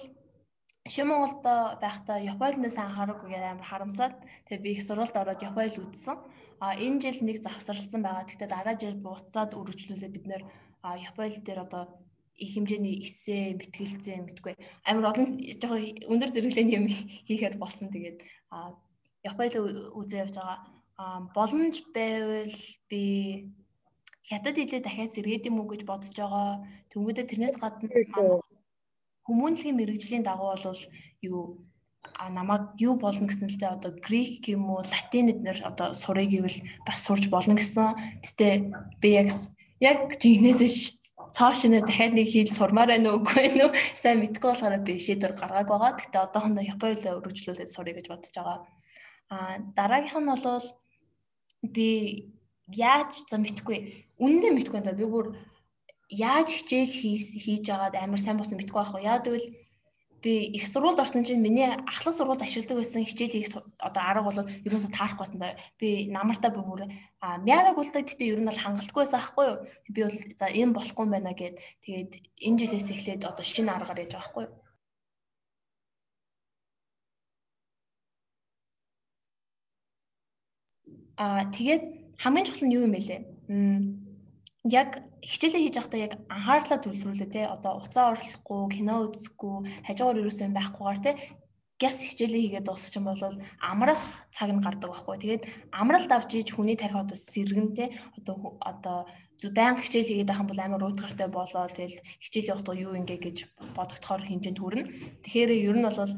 Шинэ Монголд байхдаа Японоос анхаарахгүй гэдэг амар харамсаад тэгээ би их сурвалд ороод Японд үзсэн. Энэ жил нэг завсарлсан байгаа. Гэхдээ дараа жил буцаад үргэлжлүүлээд бид нэр Японд дээр одоо их хэмжээний эссе мэтгэлцээ мэдгүй амар олон жоохон өндөр зэрэглэлийн юм хийхээр болсон. Тэгээд Японд үзээ явж байгаа. Боломж байвал би хятад хэлээ дахиад сэргээд юм уу гэж бодож байгаа. Тэнгүүдээ тэрнээс гадна хүмүүнлэгийн мэрэгжлийн дагуу бол юу намайг юу болно гэсэн л дээ одоо грек юм уу латин эднэр одоо сурыг гэвэл бас сурж болно гэсэн. Гэтэ би яг жигнэсээ цаашнаа дахиад нэг хэл сурмаар байна уу үгүй ээ сайн мэдгүй болохоор би шийдвэр гаргааг байгаа. Гэтэ одоохондоо Японд өргөжлүүлээд сурыг гэж бодож байгаа. Дараагийнх нь бол би яаж мэдгүй үнэндээ мэдгүй энэ би бүр яаж хичээл хийж агаад амар сайн болсон мэдгүй байхгүй. Яа гэвэл би их сургуульд орсон чинь миний ахлах сургуульд ашигладаг байсан хичээл хийх одоо арга бол ерөөсөө таарахгүй байсан. Би намартаа бүр мяараг үлдээ гэхдээ ер нь бол хангалтгүй байсан байхгүй юу. Би бол за энэ болохгүй юм байна гэд тэгээд энэ жилээс эхлээд одоо шинэ аргаар яаж байгаа байхгүй юу. Тэгээд хамгийн чухал нь юу юм бэ лээ? Яг хичээлээ хийж байхдаа яг анхаарлаа төвлөрүүлээ те одоо уцаа орлохгүй кино үзэхгүй хажуугаар юусэн байхгүйгээр те гяс хичээлээ хийгээд дуусчих юм бол амрах цаг нь гардаг байхгүй. Тэгээд амралт авч ийж хүний тарих одоо сэргэн те одоо баян хичээл хийгээд байх юм бол амар уйтгартай болоо тэгэл хичээл явахдаа юу ингээ гэж бодогдохоор хэмжээнд хүрнэ. Тэгэхээр ер нь бол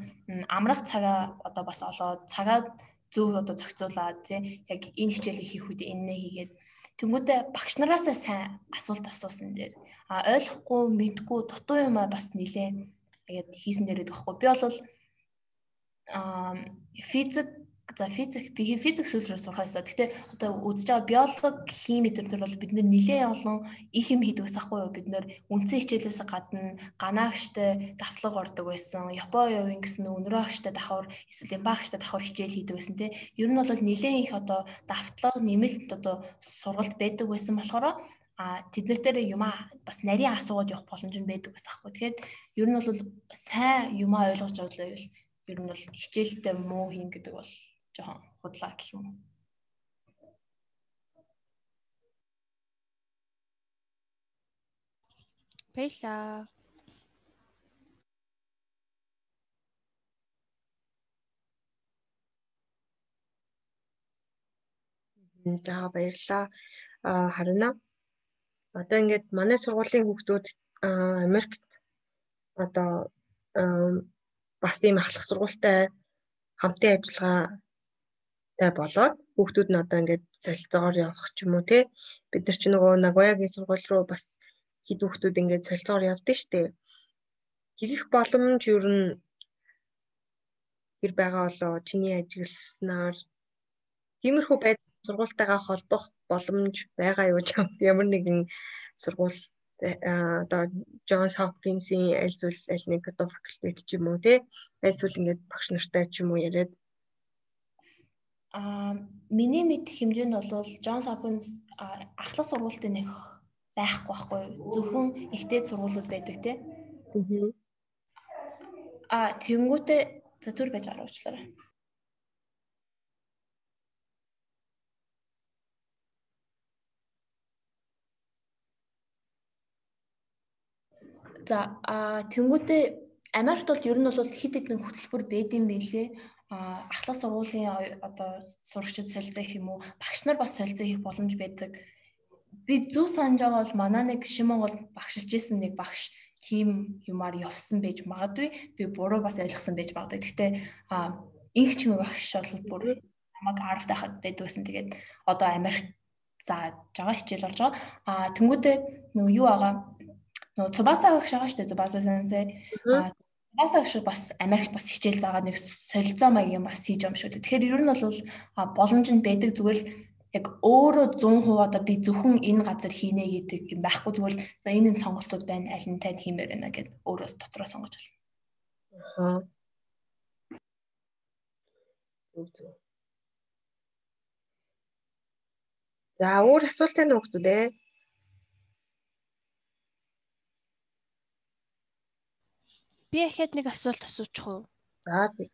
амрах цагаа одоо бас олоод цагаа зөв одоо зохицуулаад те яг энэ хичээлийг хийх үед энэ хийгээд тэнгүүтээ багш нараасаа сайн асуулт асуусан дээр ойлгохгүй мэдгүй дутуу юм бас нилээ тэгээд хийсэн дээрээ гэхгүй. Би бол физик сүлрээр сурхаасаа. Гэтэ одоо үзэж байгаа биологи, хими төр бол бид нэлээ олон их юм хийдэг байсан хгүй юу? Бид нэр үндсэн хичээлээс гадна ганаагчтай давтлага ордог байсан. Япон явын гэсэн өнөрөөгчтэй давхар эсвэл эмбаагчтай давхар хичээл хийдэг байсан те. Ер нь бол нэлээ их одоо давтлага нэмэлт одоо сургалт байдаг байсан болохоор тэднэр дээр юмаа бас нарийн асуугаад явах боломж нь байдаг байсан хгүй. Тэгэхээр ер нь бол сайн юмаа ойлгож авлаа байвал ер нь бол хичээлдээ муу хийн гэдэг бол жоохон худлаа гэх юм уу. Баярлалаа. За баярлалаа. Харина. Одоо ингээд манай сургуулийн хүүхдүүд Америкт одоо бас ийм ахлах сургуультай хамтын ажиллагаатай болоод хүүхдүүд нь одоо ингээд солилцоогоор явах ч юм уу те бид нар ч нөгөө Нагоягийн сургууль руу бас хэд хүүхдүүд ингээд солилцоогоор явдаг штэ. Хэлэх боломж ер нь хэр байгаа болоо чиний ажигласнаар тиймэрхүү байдал сургуультайгаа холбох боломж байгаа юу ч ямар нэгэн сургууль одоо Джонс Хопкинсийн альсвал аль нэг одоо факультет ч юм уу те альсвал ингээд багш нартай ч юм уу яриад миний мэдэх хэмжээнд бол Джонс Хопкинс ахлах сургуультын нэг байхгүй зөвхөн ихтэй сургуулиуд байдаг те. Тэнгүүтээ за түр байж байгаа уучлаарай. За тэнгүүтээ Америкт бол ер нь бол хэд хэдэн хөтөлбөр байдсан байлээ. Ахлах сургуулийн одоо сурагчид солилцоо гэх юм уу, багш нар бас солилцоо хийх боломж байдаг. Би зөв санаж байгаа бол манай нэг Шимонгол багшилж исэн нэг багш тийм юмар явсан байж магадгүй. Би буруу бас ойлгосон байж магадгүй. Гэхдээ инх чимээ багш бол бүр намайг 10 тахад байдаг гэсэн. Тэгээд одоо Америкт зааж байгаа хичээл болж байгаа. Тэнгүүтээ нөгөө юу байгаа? Нөгөө Цубаса багш байгаа шүү дээ. Цубаса сенсей. Цубаса багш бас Америкт бас хичээл заагаад нэг солилцоо маягийн бас хийж байгаа юм шүү дээ. Тэгэхээр ер нь бол боломж нь байдаг, зүгээр л яг өөрөө 100% одоо би зөвхөн энэ газар хийнэ гэдэг юм байхгүй, зүгээр л за энэ сонголтууд байна, аль нь тань хиймээр байна гэд өөрөө дотроо сонгож болно. За өөр асуулт байна уу хүмүүс ээ? Би ихэд нэг асуулт асуучих уу? За тийм.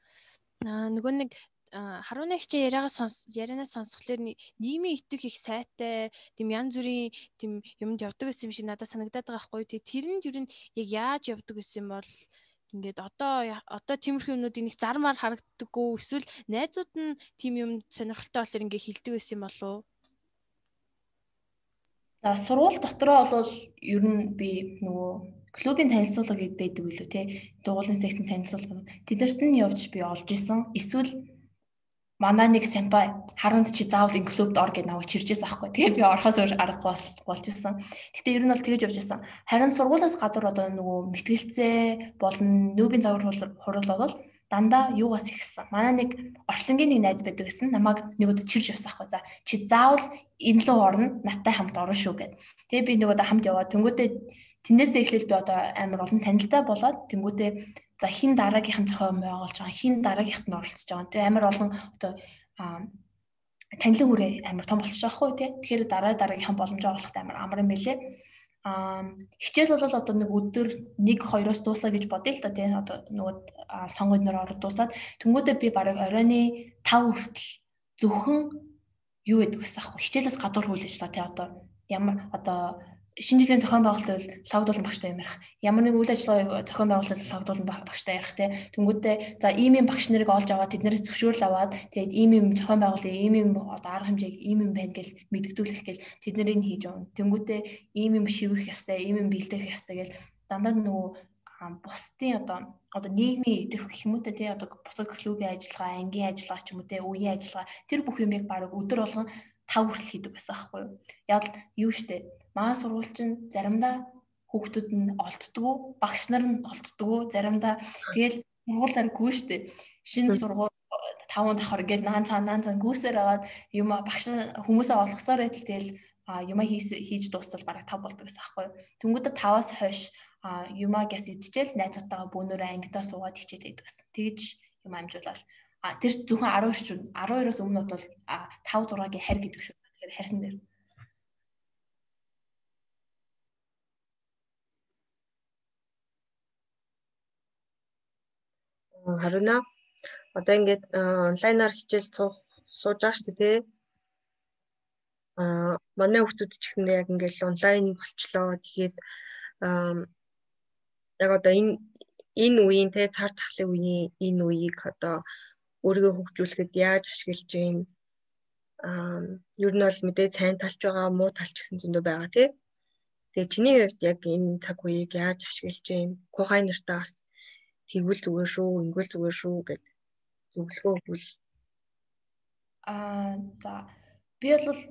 Нөгөө нэг Харуун хичээ ярианаас сонсхолоор нийгмийн итэг их сайтай тийм янз бүрийн тийм юмд явдаг гэсэн юм шиг надад санагдаад байгаа байхгүй. Тэр нь ер нь яг яаж явдаг гэсэн юм бол ингээд одоо тиймэрхүү юмнуудыг нэг зармаар харагддаггүй, эсвэл найзууд нь тийм юм сонирхолтой болохоор ингээд хилдэг гэсэн юм болов уу? За сургууль дотроо бол ер нь би нөгөө клубын танилцуулга гэдэг байдаг билүү те, дугуулын секцийн танилцуулга тэднэрт нь явж би олж исэн. Эсвэл манай нэг сампай Харунд чи заавал энэ клубд ор гэж намайг чиржсэн аахгүй. Тэгээ би орохоос өөр аргагүй болж исэн. Гэтэ ер нь бол тэгэж явж исэн. Харин сургуулиас гадуур одоо нөгөө мэтгэлцээ болон нүүбийн загвар хурал бол дандаа юугаас ихсэн. Манай нэг орчлонгийн нэг найз байдаг гэсэн. Намайг нөгөөд чирж явсан аахгүй. За чи заавал энэ лөө орно, надтай хамт орно шүү гэд. Тэгээ би нөгөөд хамт яваад тэнгүүтээ тэндээсээ эхлээл би одоо амар олон танилтай болоод тэнгүүтээ за хин дараагийнх нь зохион байгуулж байгаа, хин дараагийнхт нь оролцож байгаа. Тэгээ амар олон одоо танилын хүрээ амар том болчих жоохгүй тий. Тэгэхээр дараагийнхан боломжоо олоход амар юм билээ. Хичээл бол одоо нэг өдөр 1-2-оос дуусаа гэж бодъё л да тий. Одоо нөгөө сонгоод нөр ороод дуусаад тэнгүүтээ би бараг оройны 5 хүртэл зөвхөн юу гэдэг гэсэн аахгүй. Хичээлээс гадуур хүлээж та тий. Одоо ямар одоо шинэ жилийн зохион байгуулалт бол логдуулан багштай ярих. Ямар нэг үйл ажиллагаа зохион байгуулалт логдуулан багштай ярих те. Тэнгүүдээ за ийм багш нарыг олж аваад тэднээс зөвшөөрөл аваад тэгээд ийм зохион байгуулалт ийм одоо арга хэмжээг ийм байна гэж мэдгдүүлэх гээл тэд нарыг хийж өгнө. Тэнгүүдээ ийм шивэх ёстой, ийм бэлдэх ёстой гэж дандаа нөгөө бусдын одоо нийгмийн идэх гэх юм уу те одоо бусад клубын ажиллагаа, ангийн ажиллагаа ч юм уу те үеийн ажиллагаа тэр бүх юмыг баг өдөр болгон 5 хүртэл хийдэг байсан аахгүй юу. Яг юу штэ манай сургууль чинь заримдаа хүүхдүүд нь олддгоо, багш нар нь олддгоо, заримдаа тэгэл сургуулиар гүйштэй. Шинэ сургууль 5 давхар ингээл наан цаан гүйсээр аваад юм багш хүмүүсээ олгосоор байтал тэгэл юмаа хийж дуустал бараг 5 болдог гэсэн аахгүй юу. Тэнгүүдээ 5-аас хойш юмаа гэс идчихэл найзуудтайгаа бөөнөрөө ангидаа суугаад хичээд байдаг гэсэн. Тэгж юм амжуулаад тэр зөвхөн 12-оос өмнө бол 5-6-гийн харь гэдэг шүү. Тэгэхээр харьсан дээр. Харуна одоо ингээд онлайнаар хичээл сууж байгаа шүү дээ. Манай хүүхдүүд ч гэсэндээ яг ингээд онлайн болчлоо. Тэгэхээр яг одоо энэ үеийн те цар тахлын үеийн энэ үеийг одоо өөрийгөө хөгжүүлэхэд яаж ашиглаж юм ер нь бол мэдээ сайн талч байгаа, муу талч гэсэн зөндөө байгаа тий. Тэгээ чиний хувьд яг энэ цаг үеийг яаж ашиглаж юм? Кохай нартаа бас тэгвэл зүгээр шүү, ингэвэл зүгээр шүү гэд зөвлөгөө өгвөл. За би бол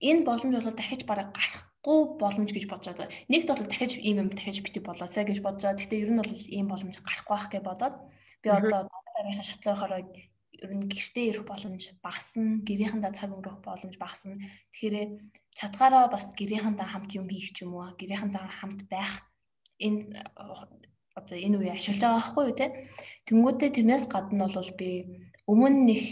энэ боломж бол дахиж бараг гарах боломж гэж бодож байгаа. Нэгд бол дахиж ийм юм дахиж бити болоосаа гэж бодож байгаа. Гэхдээ ер нь бол ийм боломж гарахгүй байх гэж бодоод би одоо дараагийн шатлахаараа ер нь гэртээ ирэх боломж багасна, гэрийнхэнтэй цаг өнгөрөх боломж багасна. Тэгэхээр чадгаараа бас гэрийнхэнтэй хамт юм хийх ч юм уу, гэрийнхэнтэй хамт байх энэ одоо энэ үе ашиглаж байгаа байхгүй юу те. Тэнгүүдээ тэрнээс гадна бол би өмнө нэг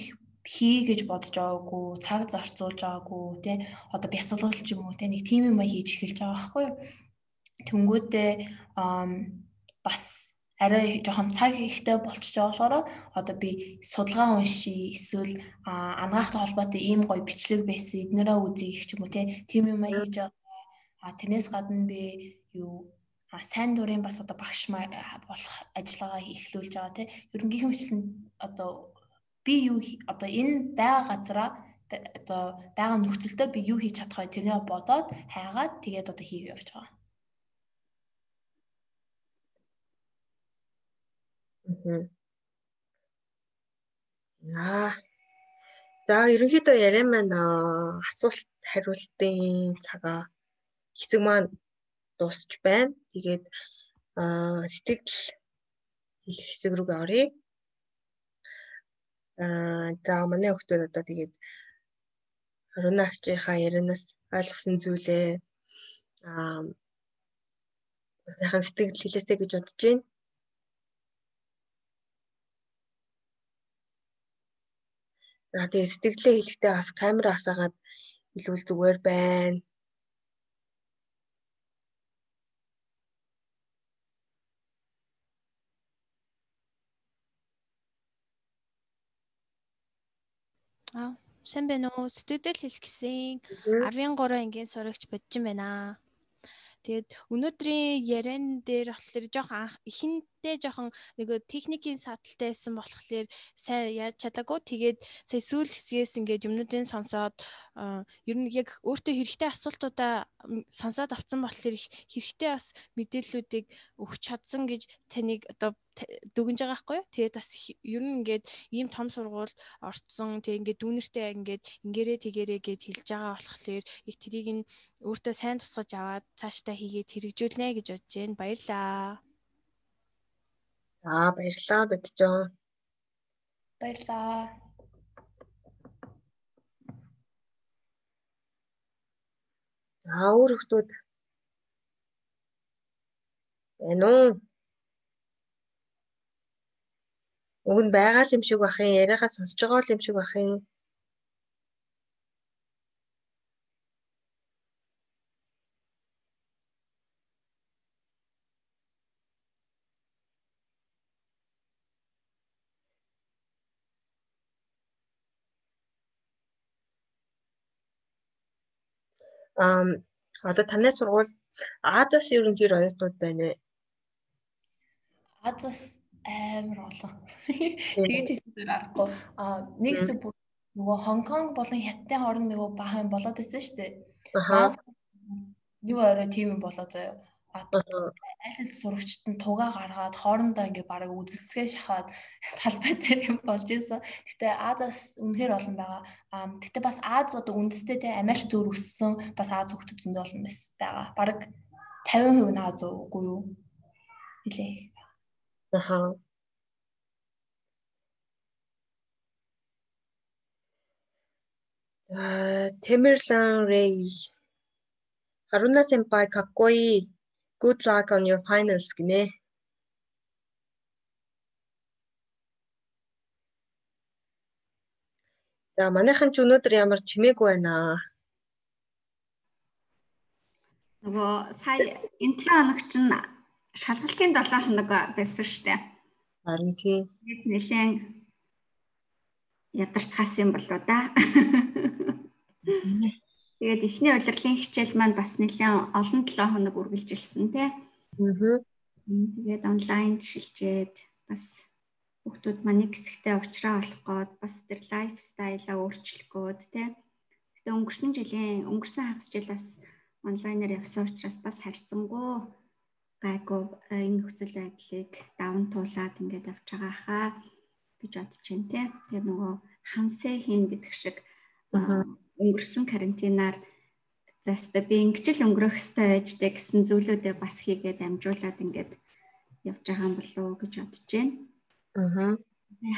хий гэж бодож байгаагүй, цаг зарцуулж байгаагүй те. Одоо бясалгал ч юм уу те нэг тийм юм хийж эхэлж байгаа байхгүй юу. Тэнгүүдээ бас арай жоохон цаг ихтэй болчихж байгаа болохоор одоо би судалгаа уншия, эсвэл анагаахтай холбоотой ийм гоё бичлэг байсан эднэрээ үзье гэх юм уу те. Тийм юм хийж байгаа. Тэрнээс гадна би юу сайн дурын бас одоо багш болох ажиллагаа эхлүүлж байгаа те. Ерөнхийдөө хэмжлэн одоо би юу одоо энэ байгаа газараа одоо байгаа нөхцөлдөө би юу хийж чадах вэ тэрнээ бодоод хайгаад тэгээд одоо хийх явж байгаа. За ерөнхийдөө яриа маань асуулт хариултын цагаа хэсэг маань дуусч байна. Тэгээд сэтгэл хэлэх хэсэг рүүгээ оръё. За манай хүмүүс одоо тэгээд Аруна агчийнхаа ярианаас ойлгосон зүйлээ сайхан сэтгэл хэлээсэй гэж бодож байна. Тэгээд сэтгэлээ хэлэхдээ бас камера асаагаад хэлвэл зүгээр байна. Сайн байна уу? Сэтгэл хэлэх гэсэн 13 ангийн сурагч бодож байна. Тэгээд өнөөдрийн яриан дээр болохоор жоохон ихэнхдээ жоохон нэг техникийн садалтай байсан болохоор сайн яаж чадаагүй. Тэгээд сая сүүл хэсгээс ингээд юмнуудын сонсоод ер нь яг өөртөө хэрэгтэй асуултуудаа сонсоод авсан болохоор хэрэгтэй бас мэдээллүүдийг өгч чадсан гэж таныг одоо дүгнж байгаа байхгүй юу? Тэгээд бас ер нь ингээд ийм том сургууль орцсон. Тэгээд ингээд дүүнэртэй ингээд ингээрээ тэгээрээ гэд хэлж байгаа болохоор их тэрийг нь өөртөө сайн тусгаж аваад цаашдаа хийгээд хэрэгжүүлнэ гэж бодож байна. Баярлаа. За баярлалаа Боджон. Баярлаа. За өөр хүмүүс байна уу? Уг нь байгаа юм шиг бах юм, яриагаа сонсож байгаа юм шиг бах юм. Одоо танай сургууль Азаас ерөнхийдөө оюутнууд байна вэ? Азаас амар олон. Тэгээд хэлбэр аргагүй. Нэг хэсэг бүр нөгөө Хонконг болон Хятадын хооронд нөгөө бахан болоод байсан шүү дээ. Юу орой тийм юм болоо заяа. Аль сурагчд нь тугаа гаргаад хоорондоо ингээ бараг үзэлцгээ шахаад талбай дээр юм болж исэн. Гэтэ Азаас үнэхээр олон байгаа. Гэтэ бас Аз одоо үндэстэй те Америк зөөр өссөн бас Аз хүмүүс зөндөө олон байгаа. Бараг 50% нь Аз үгүй юу? Нилээ. Tamerlan Ray. Haruna senpai kakkoi. Good luck on your finals гинэ. За манайхан ч өнөөдөр ямар чимээгүй байна. Нөгөө сая энэ 7 хоног чинь шалгалтын 7 хоног байсан шүү дээ. Харин тийм. Тэгээд нэлээд ядарч цаас юм болоо да. Тэгээд эхний удирлын хичээл маань бас нэлээд олон 7 хоног үргэлжилсэн тий. Тэгээд онлайнд шилжээд бас хүүхдүүд маань нэг хэсэгтээ уучраа олох гээд бас тэр лайфстайлаа өөрчлөх гээд тий. Гэтэ өнгөрсөн хагас жил бас онлайнаар явсан учраас бас харьцангуй гайгүй энэ нөхцөл байдлыг даван туулаад ингээд авч байгаа хаа гэж бодож байна тий. Тэгээд нөгөө хансэ хийн гэдэг шиг өнгөрсөн карантинаар за өстө би ингэж л өнгөрөх ёстой байжтэй гэсэн зүйлүүдээ бас хийгээд амжуулаад ингээд явж байгаа юм болов уу гэж бодож байна.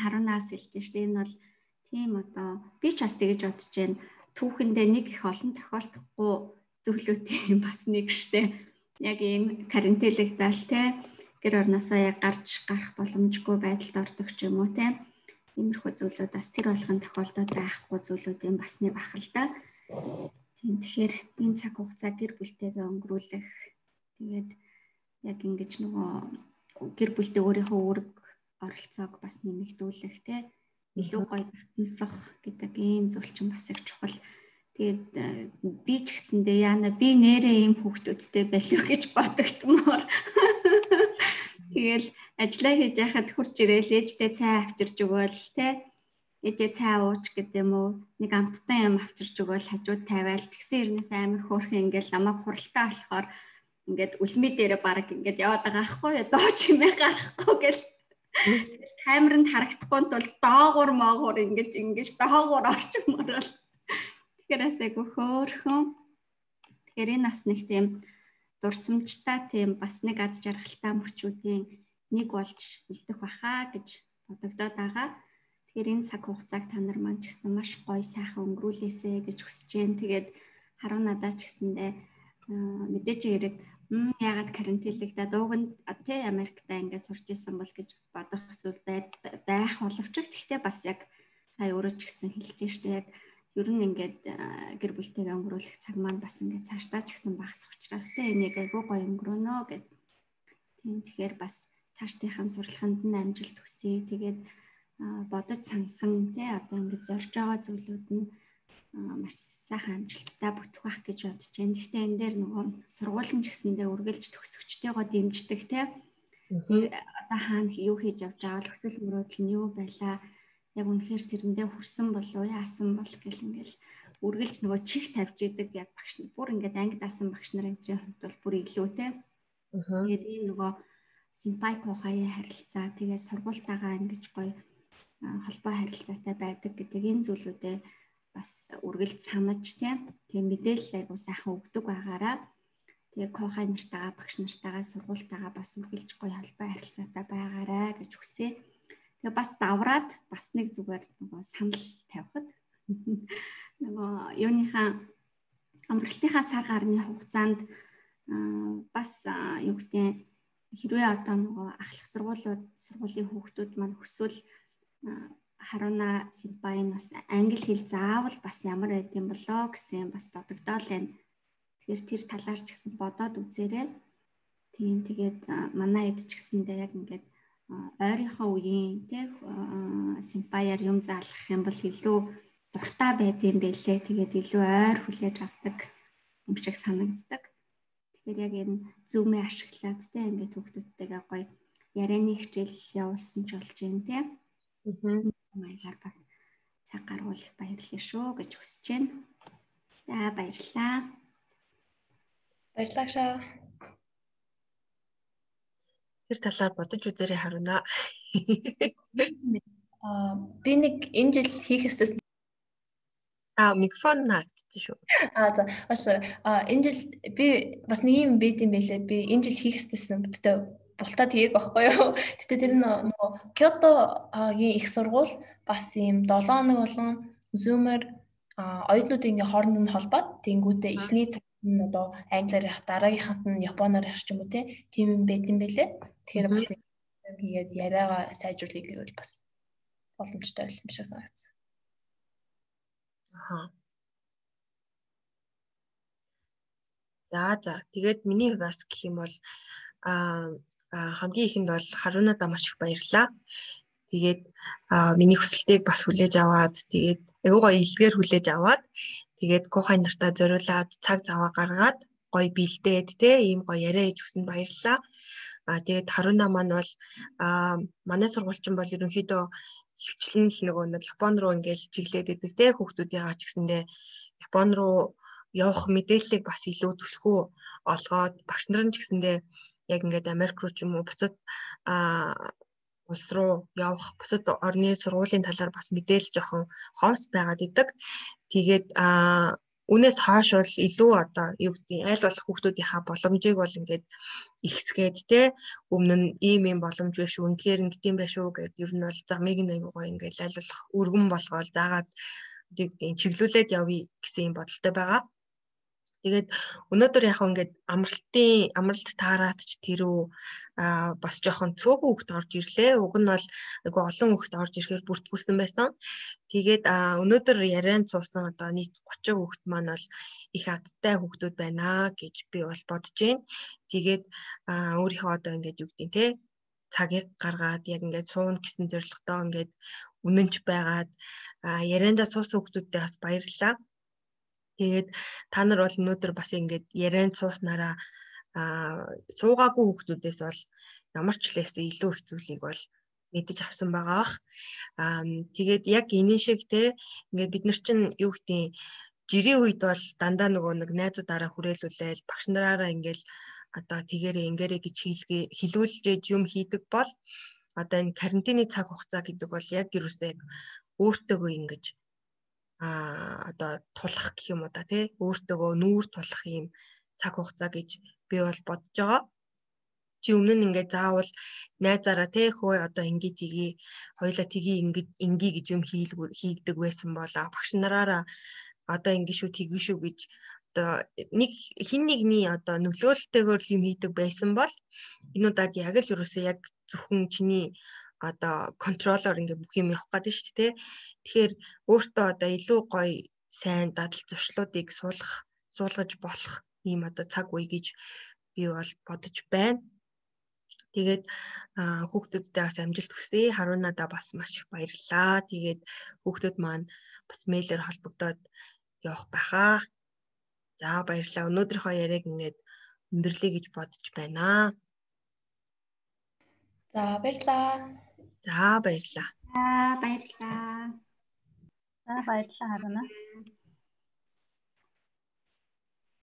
Харунаас хэлж штэ энэ бол тийм одоо би ч бас тэгэж бодож байна. Түүхэндээ нэг их олон тохиолдохгүй зүйлүүдийн бас нэг штэ. Яг ийм карантинлэгдэл те гэр орносоо яг гарч гарах боломжгүй байдалд ордог ч юм уу те. Иймэрхүү зүйлүүд бас тэр болгон тохиолдоод байхгүй зүйлүүд юм бас нэг бах л да. Тийм тэгэхээр энэ цаг хугацаа гэр бүлтэйгээ өнгөрүүлэх тэгээд яг ингэж нөгөө гэр бүлтэй өөрийнхөө үүрэг оролцоог бас нэмэгдүүлэх те илүү гоё татнасах гэдэг ийм зүйл чинь бас их чухал. Тэгээд би ч гэсэндээ яана би нэрээ ийм хүүхдүүдтэй байлуу гэж бодогдмоор. Тэгэл ажиллаа хийж яхад хурж ирээл ээжтэй цай авчирж өгөөл те ээжээ цай ууч гэдэг юм уу нэг амттай юм авчирж өгөөл хажууд тавиал тэгсэн хэрнээс амар хөөрхөн ингээл намайг хуралтай болохоор ингээд үлмээ дээрээ баг ингээд яваад байгаа ахгүй дооч юмээ гарахгүй гэл камеранд харагдахгүй тул доогуур моогуур ингэж доогуур орчмоор л тэгэхээр асайгүй хөөрхөн тэгэхээр энэ бас нэг тийм дурсамжтай тийм бас нэг аз жаргалтай мөчүүдийн нэг болж үлдэх баха гэж бодогдоод байгаа. Тэгэхээр энэ цаг хугацааг та нар маань ч гэсэн маш гоё сайхан өнгөрүүлээсэ гэж хүсэж байна. Тэгээд харуу надад ч гэсэндээ мэдээж хэрэг ягаад карантинлэгдээд ууганд тий Америкта ингээд сурч исэн бол гэж бодох зүйл байх боловч гэхдээ бас яг сая өөрөө ч гэсэн хэлж штэ яг ер нь ингээд гэр бүлтэйгээ өнгөрүүлэх цаг маань бас ингээд цаашдаа ч гэсэн багасах учраас те энийг айгүй гоё өнгөрөөнө гэд. Тийм тэгэхээр бас цаашдынхаа сурлаганд нь амжилт хүсье. Тэгээд бодож сансан те одоо ингээд зорж байгаа зүйлүүд нь маш сайхан амжилттай бүтэх байх гэж бодож байна. Гэхдээ энэ дээр нөгөө сургуулийн ч гэсэндээ үргэлж төгсөгчтэйгоо дэмждэг те. Одоо хаана юу хийж явж байгаа л өсөл мөрөөдөл нь юу байлаа яг үнэхээр тэрэндээ хүрсэн болов яасан бол гэл ингээл үргэлж нөгөө чих тавьж идэг яг багш нар бүр ингээд анги даасан багш нарын энэ хувьд бол бүр илүү те. Тэгээд ийм нөгөө симпай кохай харилцаа тэгээд сургуультайгаа ингэж гоё холбоо харилцаатай байдаг гэдэг энэ зүйлүүдээ бас үргэлж санаж те. Тэгээд мэдээлэл айгуу сайхан өгдөг байгаараа тэгээд кохай нартайгаа багш нартайгаа сургуультайгаа бас үргэлж гоё холбоо харилцаатай байгаарай гэж хүсье. Тэгээ бас давраад бас нэг зүгээр нөгөө санал тавихад нөгөө юуныхаа амралтынхаа сар гарны хугацаанд бас юу гэдэг хэрвээ одоо нөгөө ахлах сургуулийн хүүхдүүд маань хүсвэл Харуна Симпайн бас англи хэл заавал бас ямар байд юм болоо гэсэн бас бодогдоол байна. Тэгэхээр тэр талаар ч гэсэн бодоод үзээрэй. Тийм тэгээд манай эд ч гэсэндээ яг ингээд ойрынхоо үеийн тэг симпаяар юм заалгах юм бол илүү дуртай байд юм бэлээ. Тэгээд илүү ойр хүлээж авдаг юм шиг санагддаг. Тэгэхээр яг энэ зүүмээ ашиглаад тэг ингээд хүүхдүүдтэйгээ гоё ярианы хичээл явуулсан ч болж юм тэг. Маягаар бас цаг гаргуулах баярлалаа шүү гэж хүсэж байна. За баярлалаа. Баярлалаа шаа. Тэр талаар бодож үзээрэй Харуна. Би нэг энэ жил хийх ёстой микрофон наагдсан шүү. За бас энэ жил би бас нэг юм байд юм байлээ. Би энэ жил хийх ёстойсэн. Тэгтээ бултаа тгийг байхгүй юу. Тэгтээ тэр нөгөө Кётогийн их сургууль бас ийм 7 хоног болон Zoom-аар оюутнуудын ингээ хооронд нь холбоод тэнгүүтээ эхний цаг нь одоо англиар ярих, дараагийнханд нь японоор ярих ч юм уу тийм юм байд юм байлээ. Тэгэхээр бас нэг хийгээд яриагаа сайжруулах гэвэл бас боломжтой байл юм шиг санагдсан. За тэгээд миний бас гэх юм бол хамгийн ихэнд бол Харунадаа маш их баярлалаа. Тэгээд миний хүсэлтийг бас хүлээж аваад тэгээд айгуу гоё илгээр хүлээж аваад тэгээд кохай нартаа зориулаад цаг заваа гаргаад гоё бэлдээд ийм гоё яриа хийж өгсөнд баярлалаа. Тэгээд Харуна маань бол манай сургуульчин бол ерөнхийдөө хөвчлэн л нэг Япон руу ингээл чиглээд идэг хүүхдүүдийн ч гэсэндээ Япон руу явах мэдээллийг бас илүү түлхүү олгоод багш нар ч гэсэндээ яг ингээд Америк руу ч юм уу бусад улс руу явах бусад орны сургуулийн талаар бас мэдээлэл жоохон хомс байгаад идэг. Тэгээд Үүнээс хойш бол илүү одоо юу гэдэг аль болох хүүхдүүдийнхаа боломжийг бол ингээд ихсгээд те өмнө нь ийм боломж биш үү үнэхээр ингэдэм байх шүү гэдэг ер нь бол замыг нэг гоё ингээд аль болох өргөн болгоол заагаад юу гэдэг чиглүүлээд явъя гэсэн юм бодолтой байгаа. Тэгээд өнөөдөр яг ингээд амралт таараад ч тэрүү бас жоохон цөөхөн хүүхд орж ирлээ. Уг нь бол айгу олон хүүхд орж ирэхээр бүртгүүлсэн байсан. Тэгээд өнөөдөр ярианд суусан одоо нийт 30 хүүхд маань бол их адтай хүүхдүүд байна гэж би бол бодож байна. Тэгээд өөрийнхөө одоо ингээд юу гэдэг те цагийг гаргаад яг ингээд суун гэсэн зорилготой ингээд үнэнч байгаад яриандаа суусан хүүхдүүдтэй бас баярлалаа. Тэгээд та нар бол өнөөдөр бас ингээд ярианд сууснараа суугаагүй хүүхдүүдээс бол ямар ч лээсээ илүү их зүйлийг бол мэдэж авсан байгаа бах. Тэгээд яг энэ шиг те ингээд бид нар чинь юу гэдэг жирийн үед бол дандаа нөгөө нэг найзуудаараа хүрээлүүлээл багш нараараа ингээд одоо тэгэрээ ингээрээ гэж хэлүүлж юм хийдэг бол одоо энэ карантины цаг хугацаа гэдэг бол яг юусээ өөртөөгөө ингэж одоо тулах гэх юм уу да тий өөртөөгөө нүүр тулах юм цаг хугацаа гэж би бол бодож байгаа. Чи өмнө нь ингээд заавал найзаараа тий хөө одоо ингээд тгий хоёлаа тгий ингээ гэж юм хийгдэг байсан бол багш нараараа одоо ингэ шүү тгий шүү гэж одоо нэг хин нэгний одоо нөлөөлөлтөөр юм хийдэг байсан бол энэ удаад яг л юусаа яг зөвхөн чиний одоо контролоор ингээ бүх юм явах гэдэг шүү дээ. Тэгэхээр өөртөө одоо илүү гоё сайн дадал зуршлуудыг суулгаж болох ийм одоо цаг үе гэж би бол бодож байна. Тэгээд хүүхдүүдтэй бас амжилт хүсье. Харуунадаа бас маш их баярлалаа. Тэгээд хүүхдүүд маань бас мэйлээр холбогдоод явах байхаа. За баярлалаа. Өнөөдрийнхөө яриаг ингээд өндөрлөе гэж бодож байна. За баярлалаа. За баярлалаа. баярлалаа. За баярлалаа Харуна.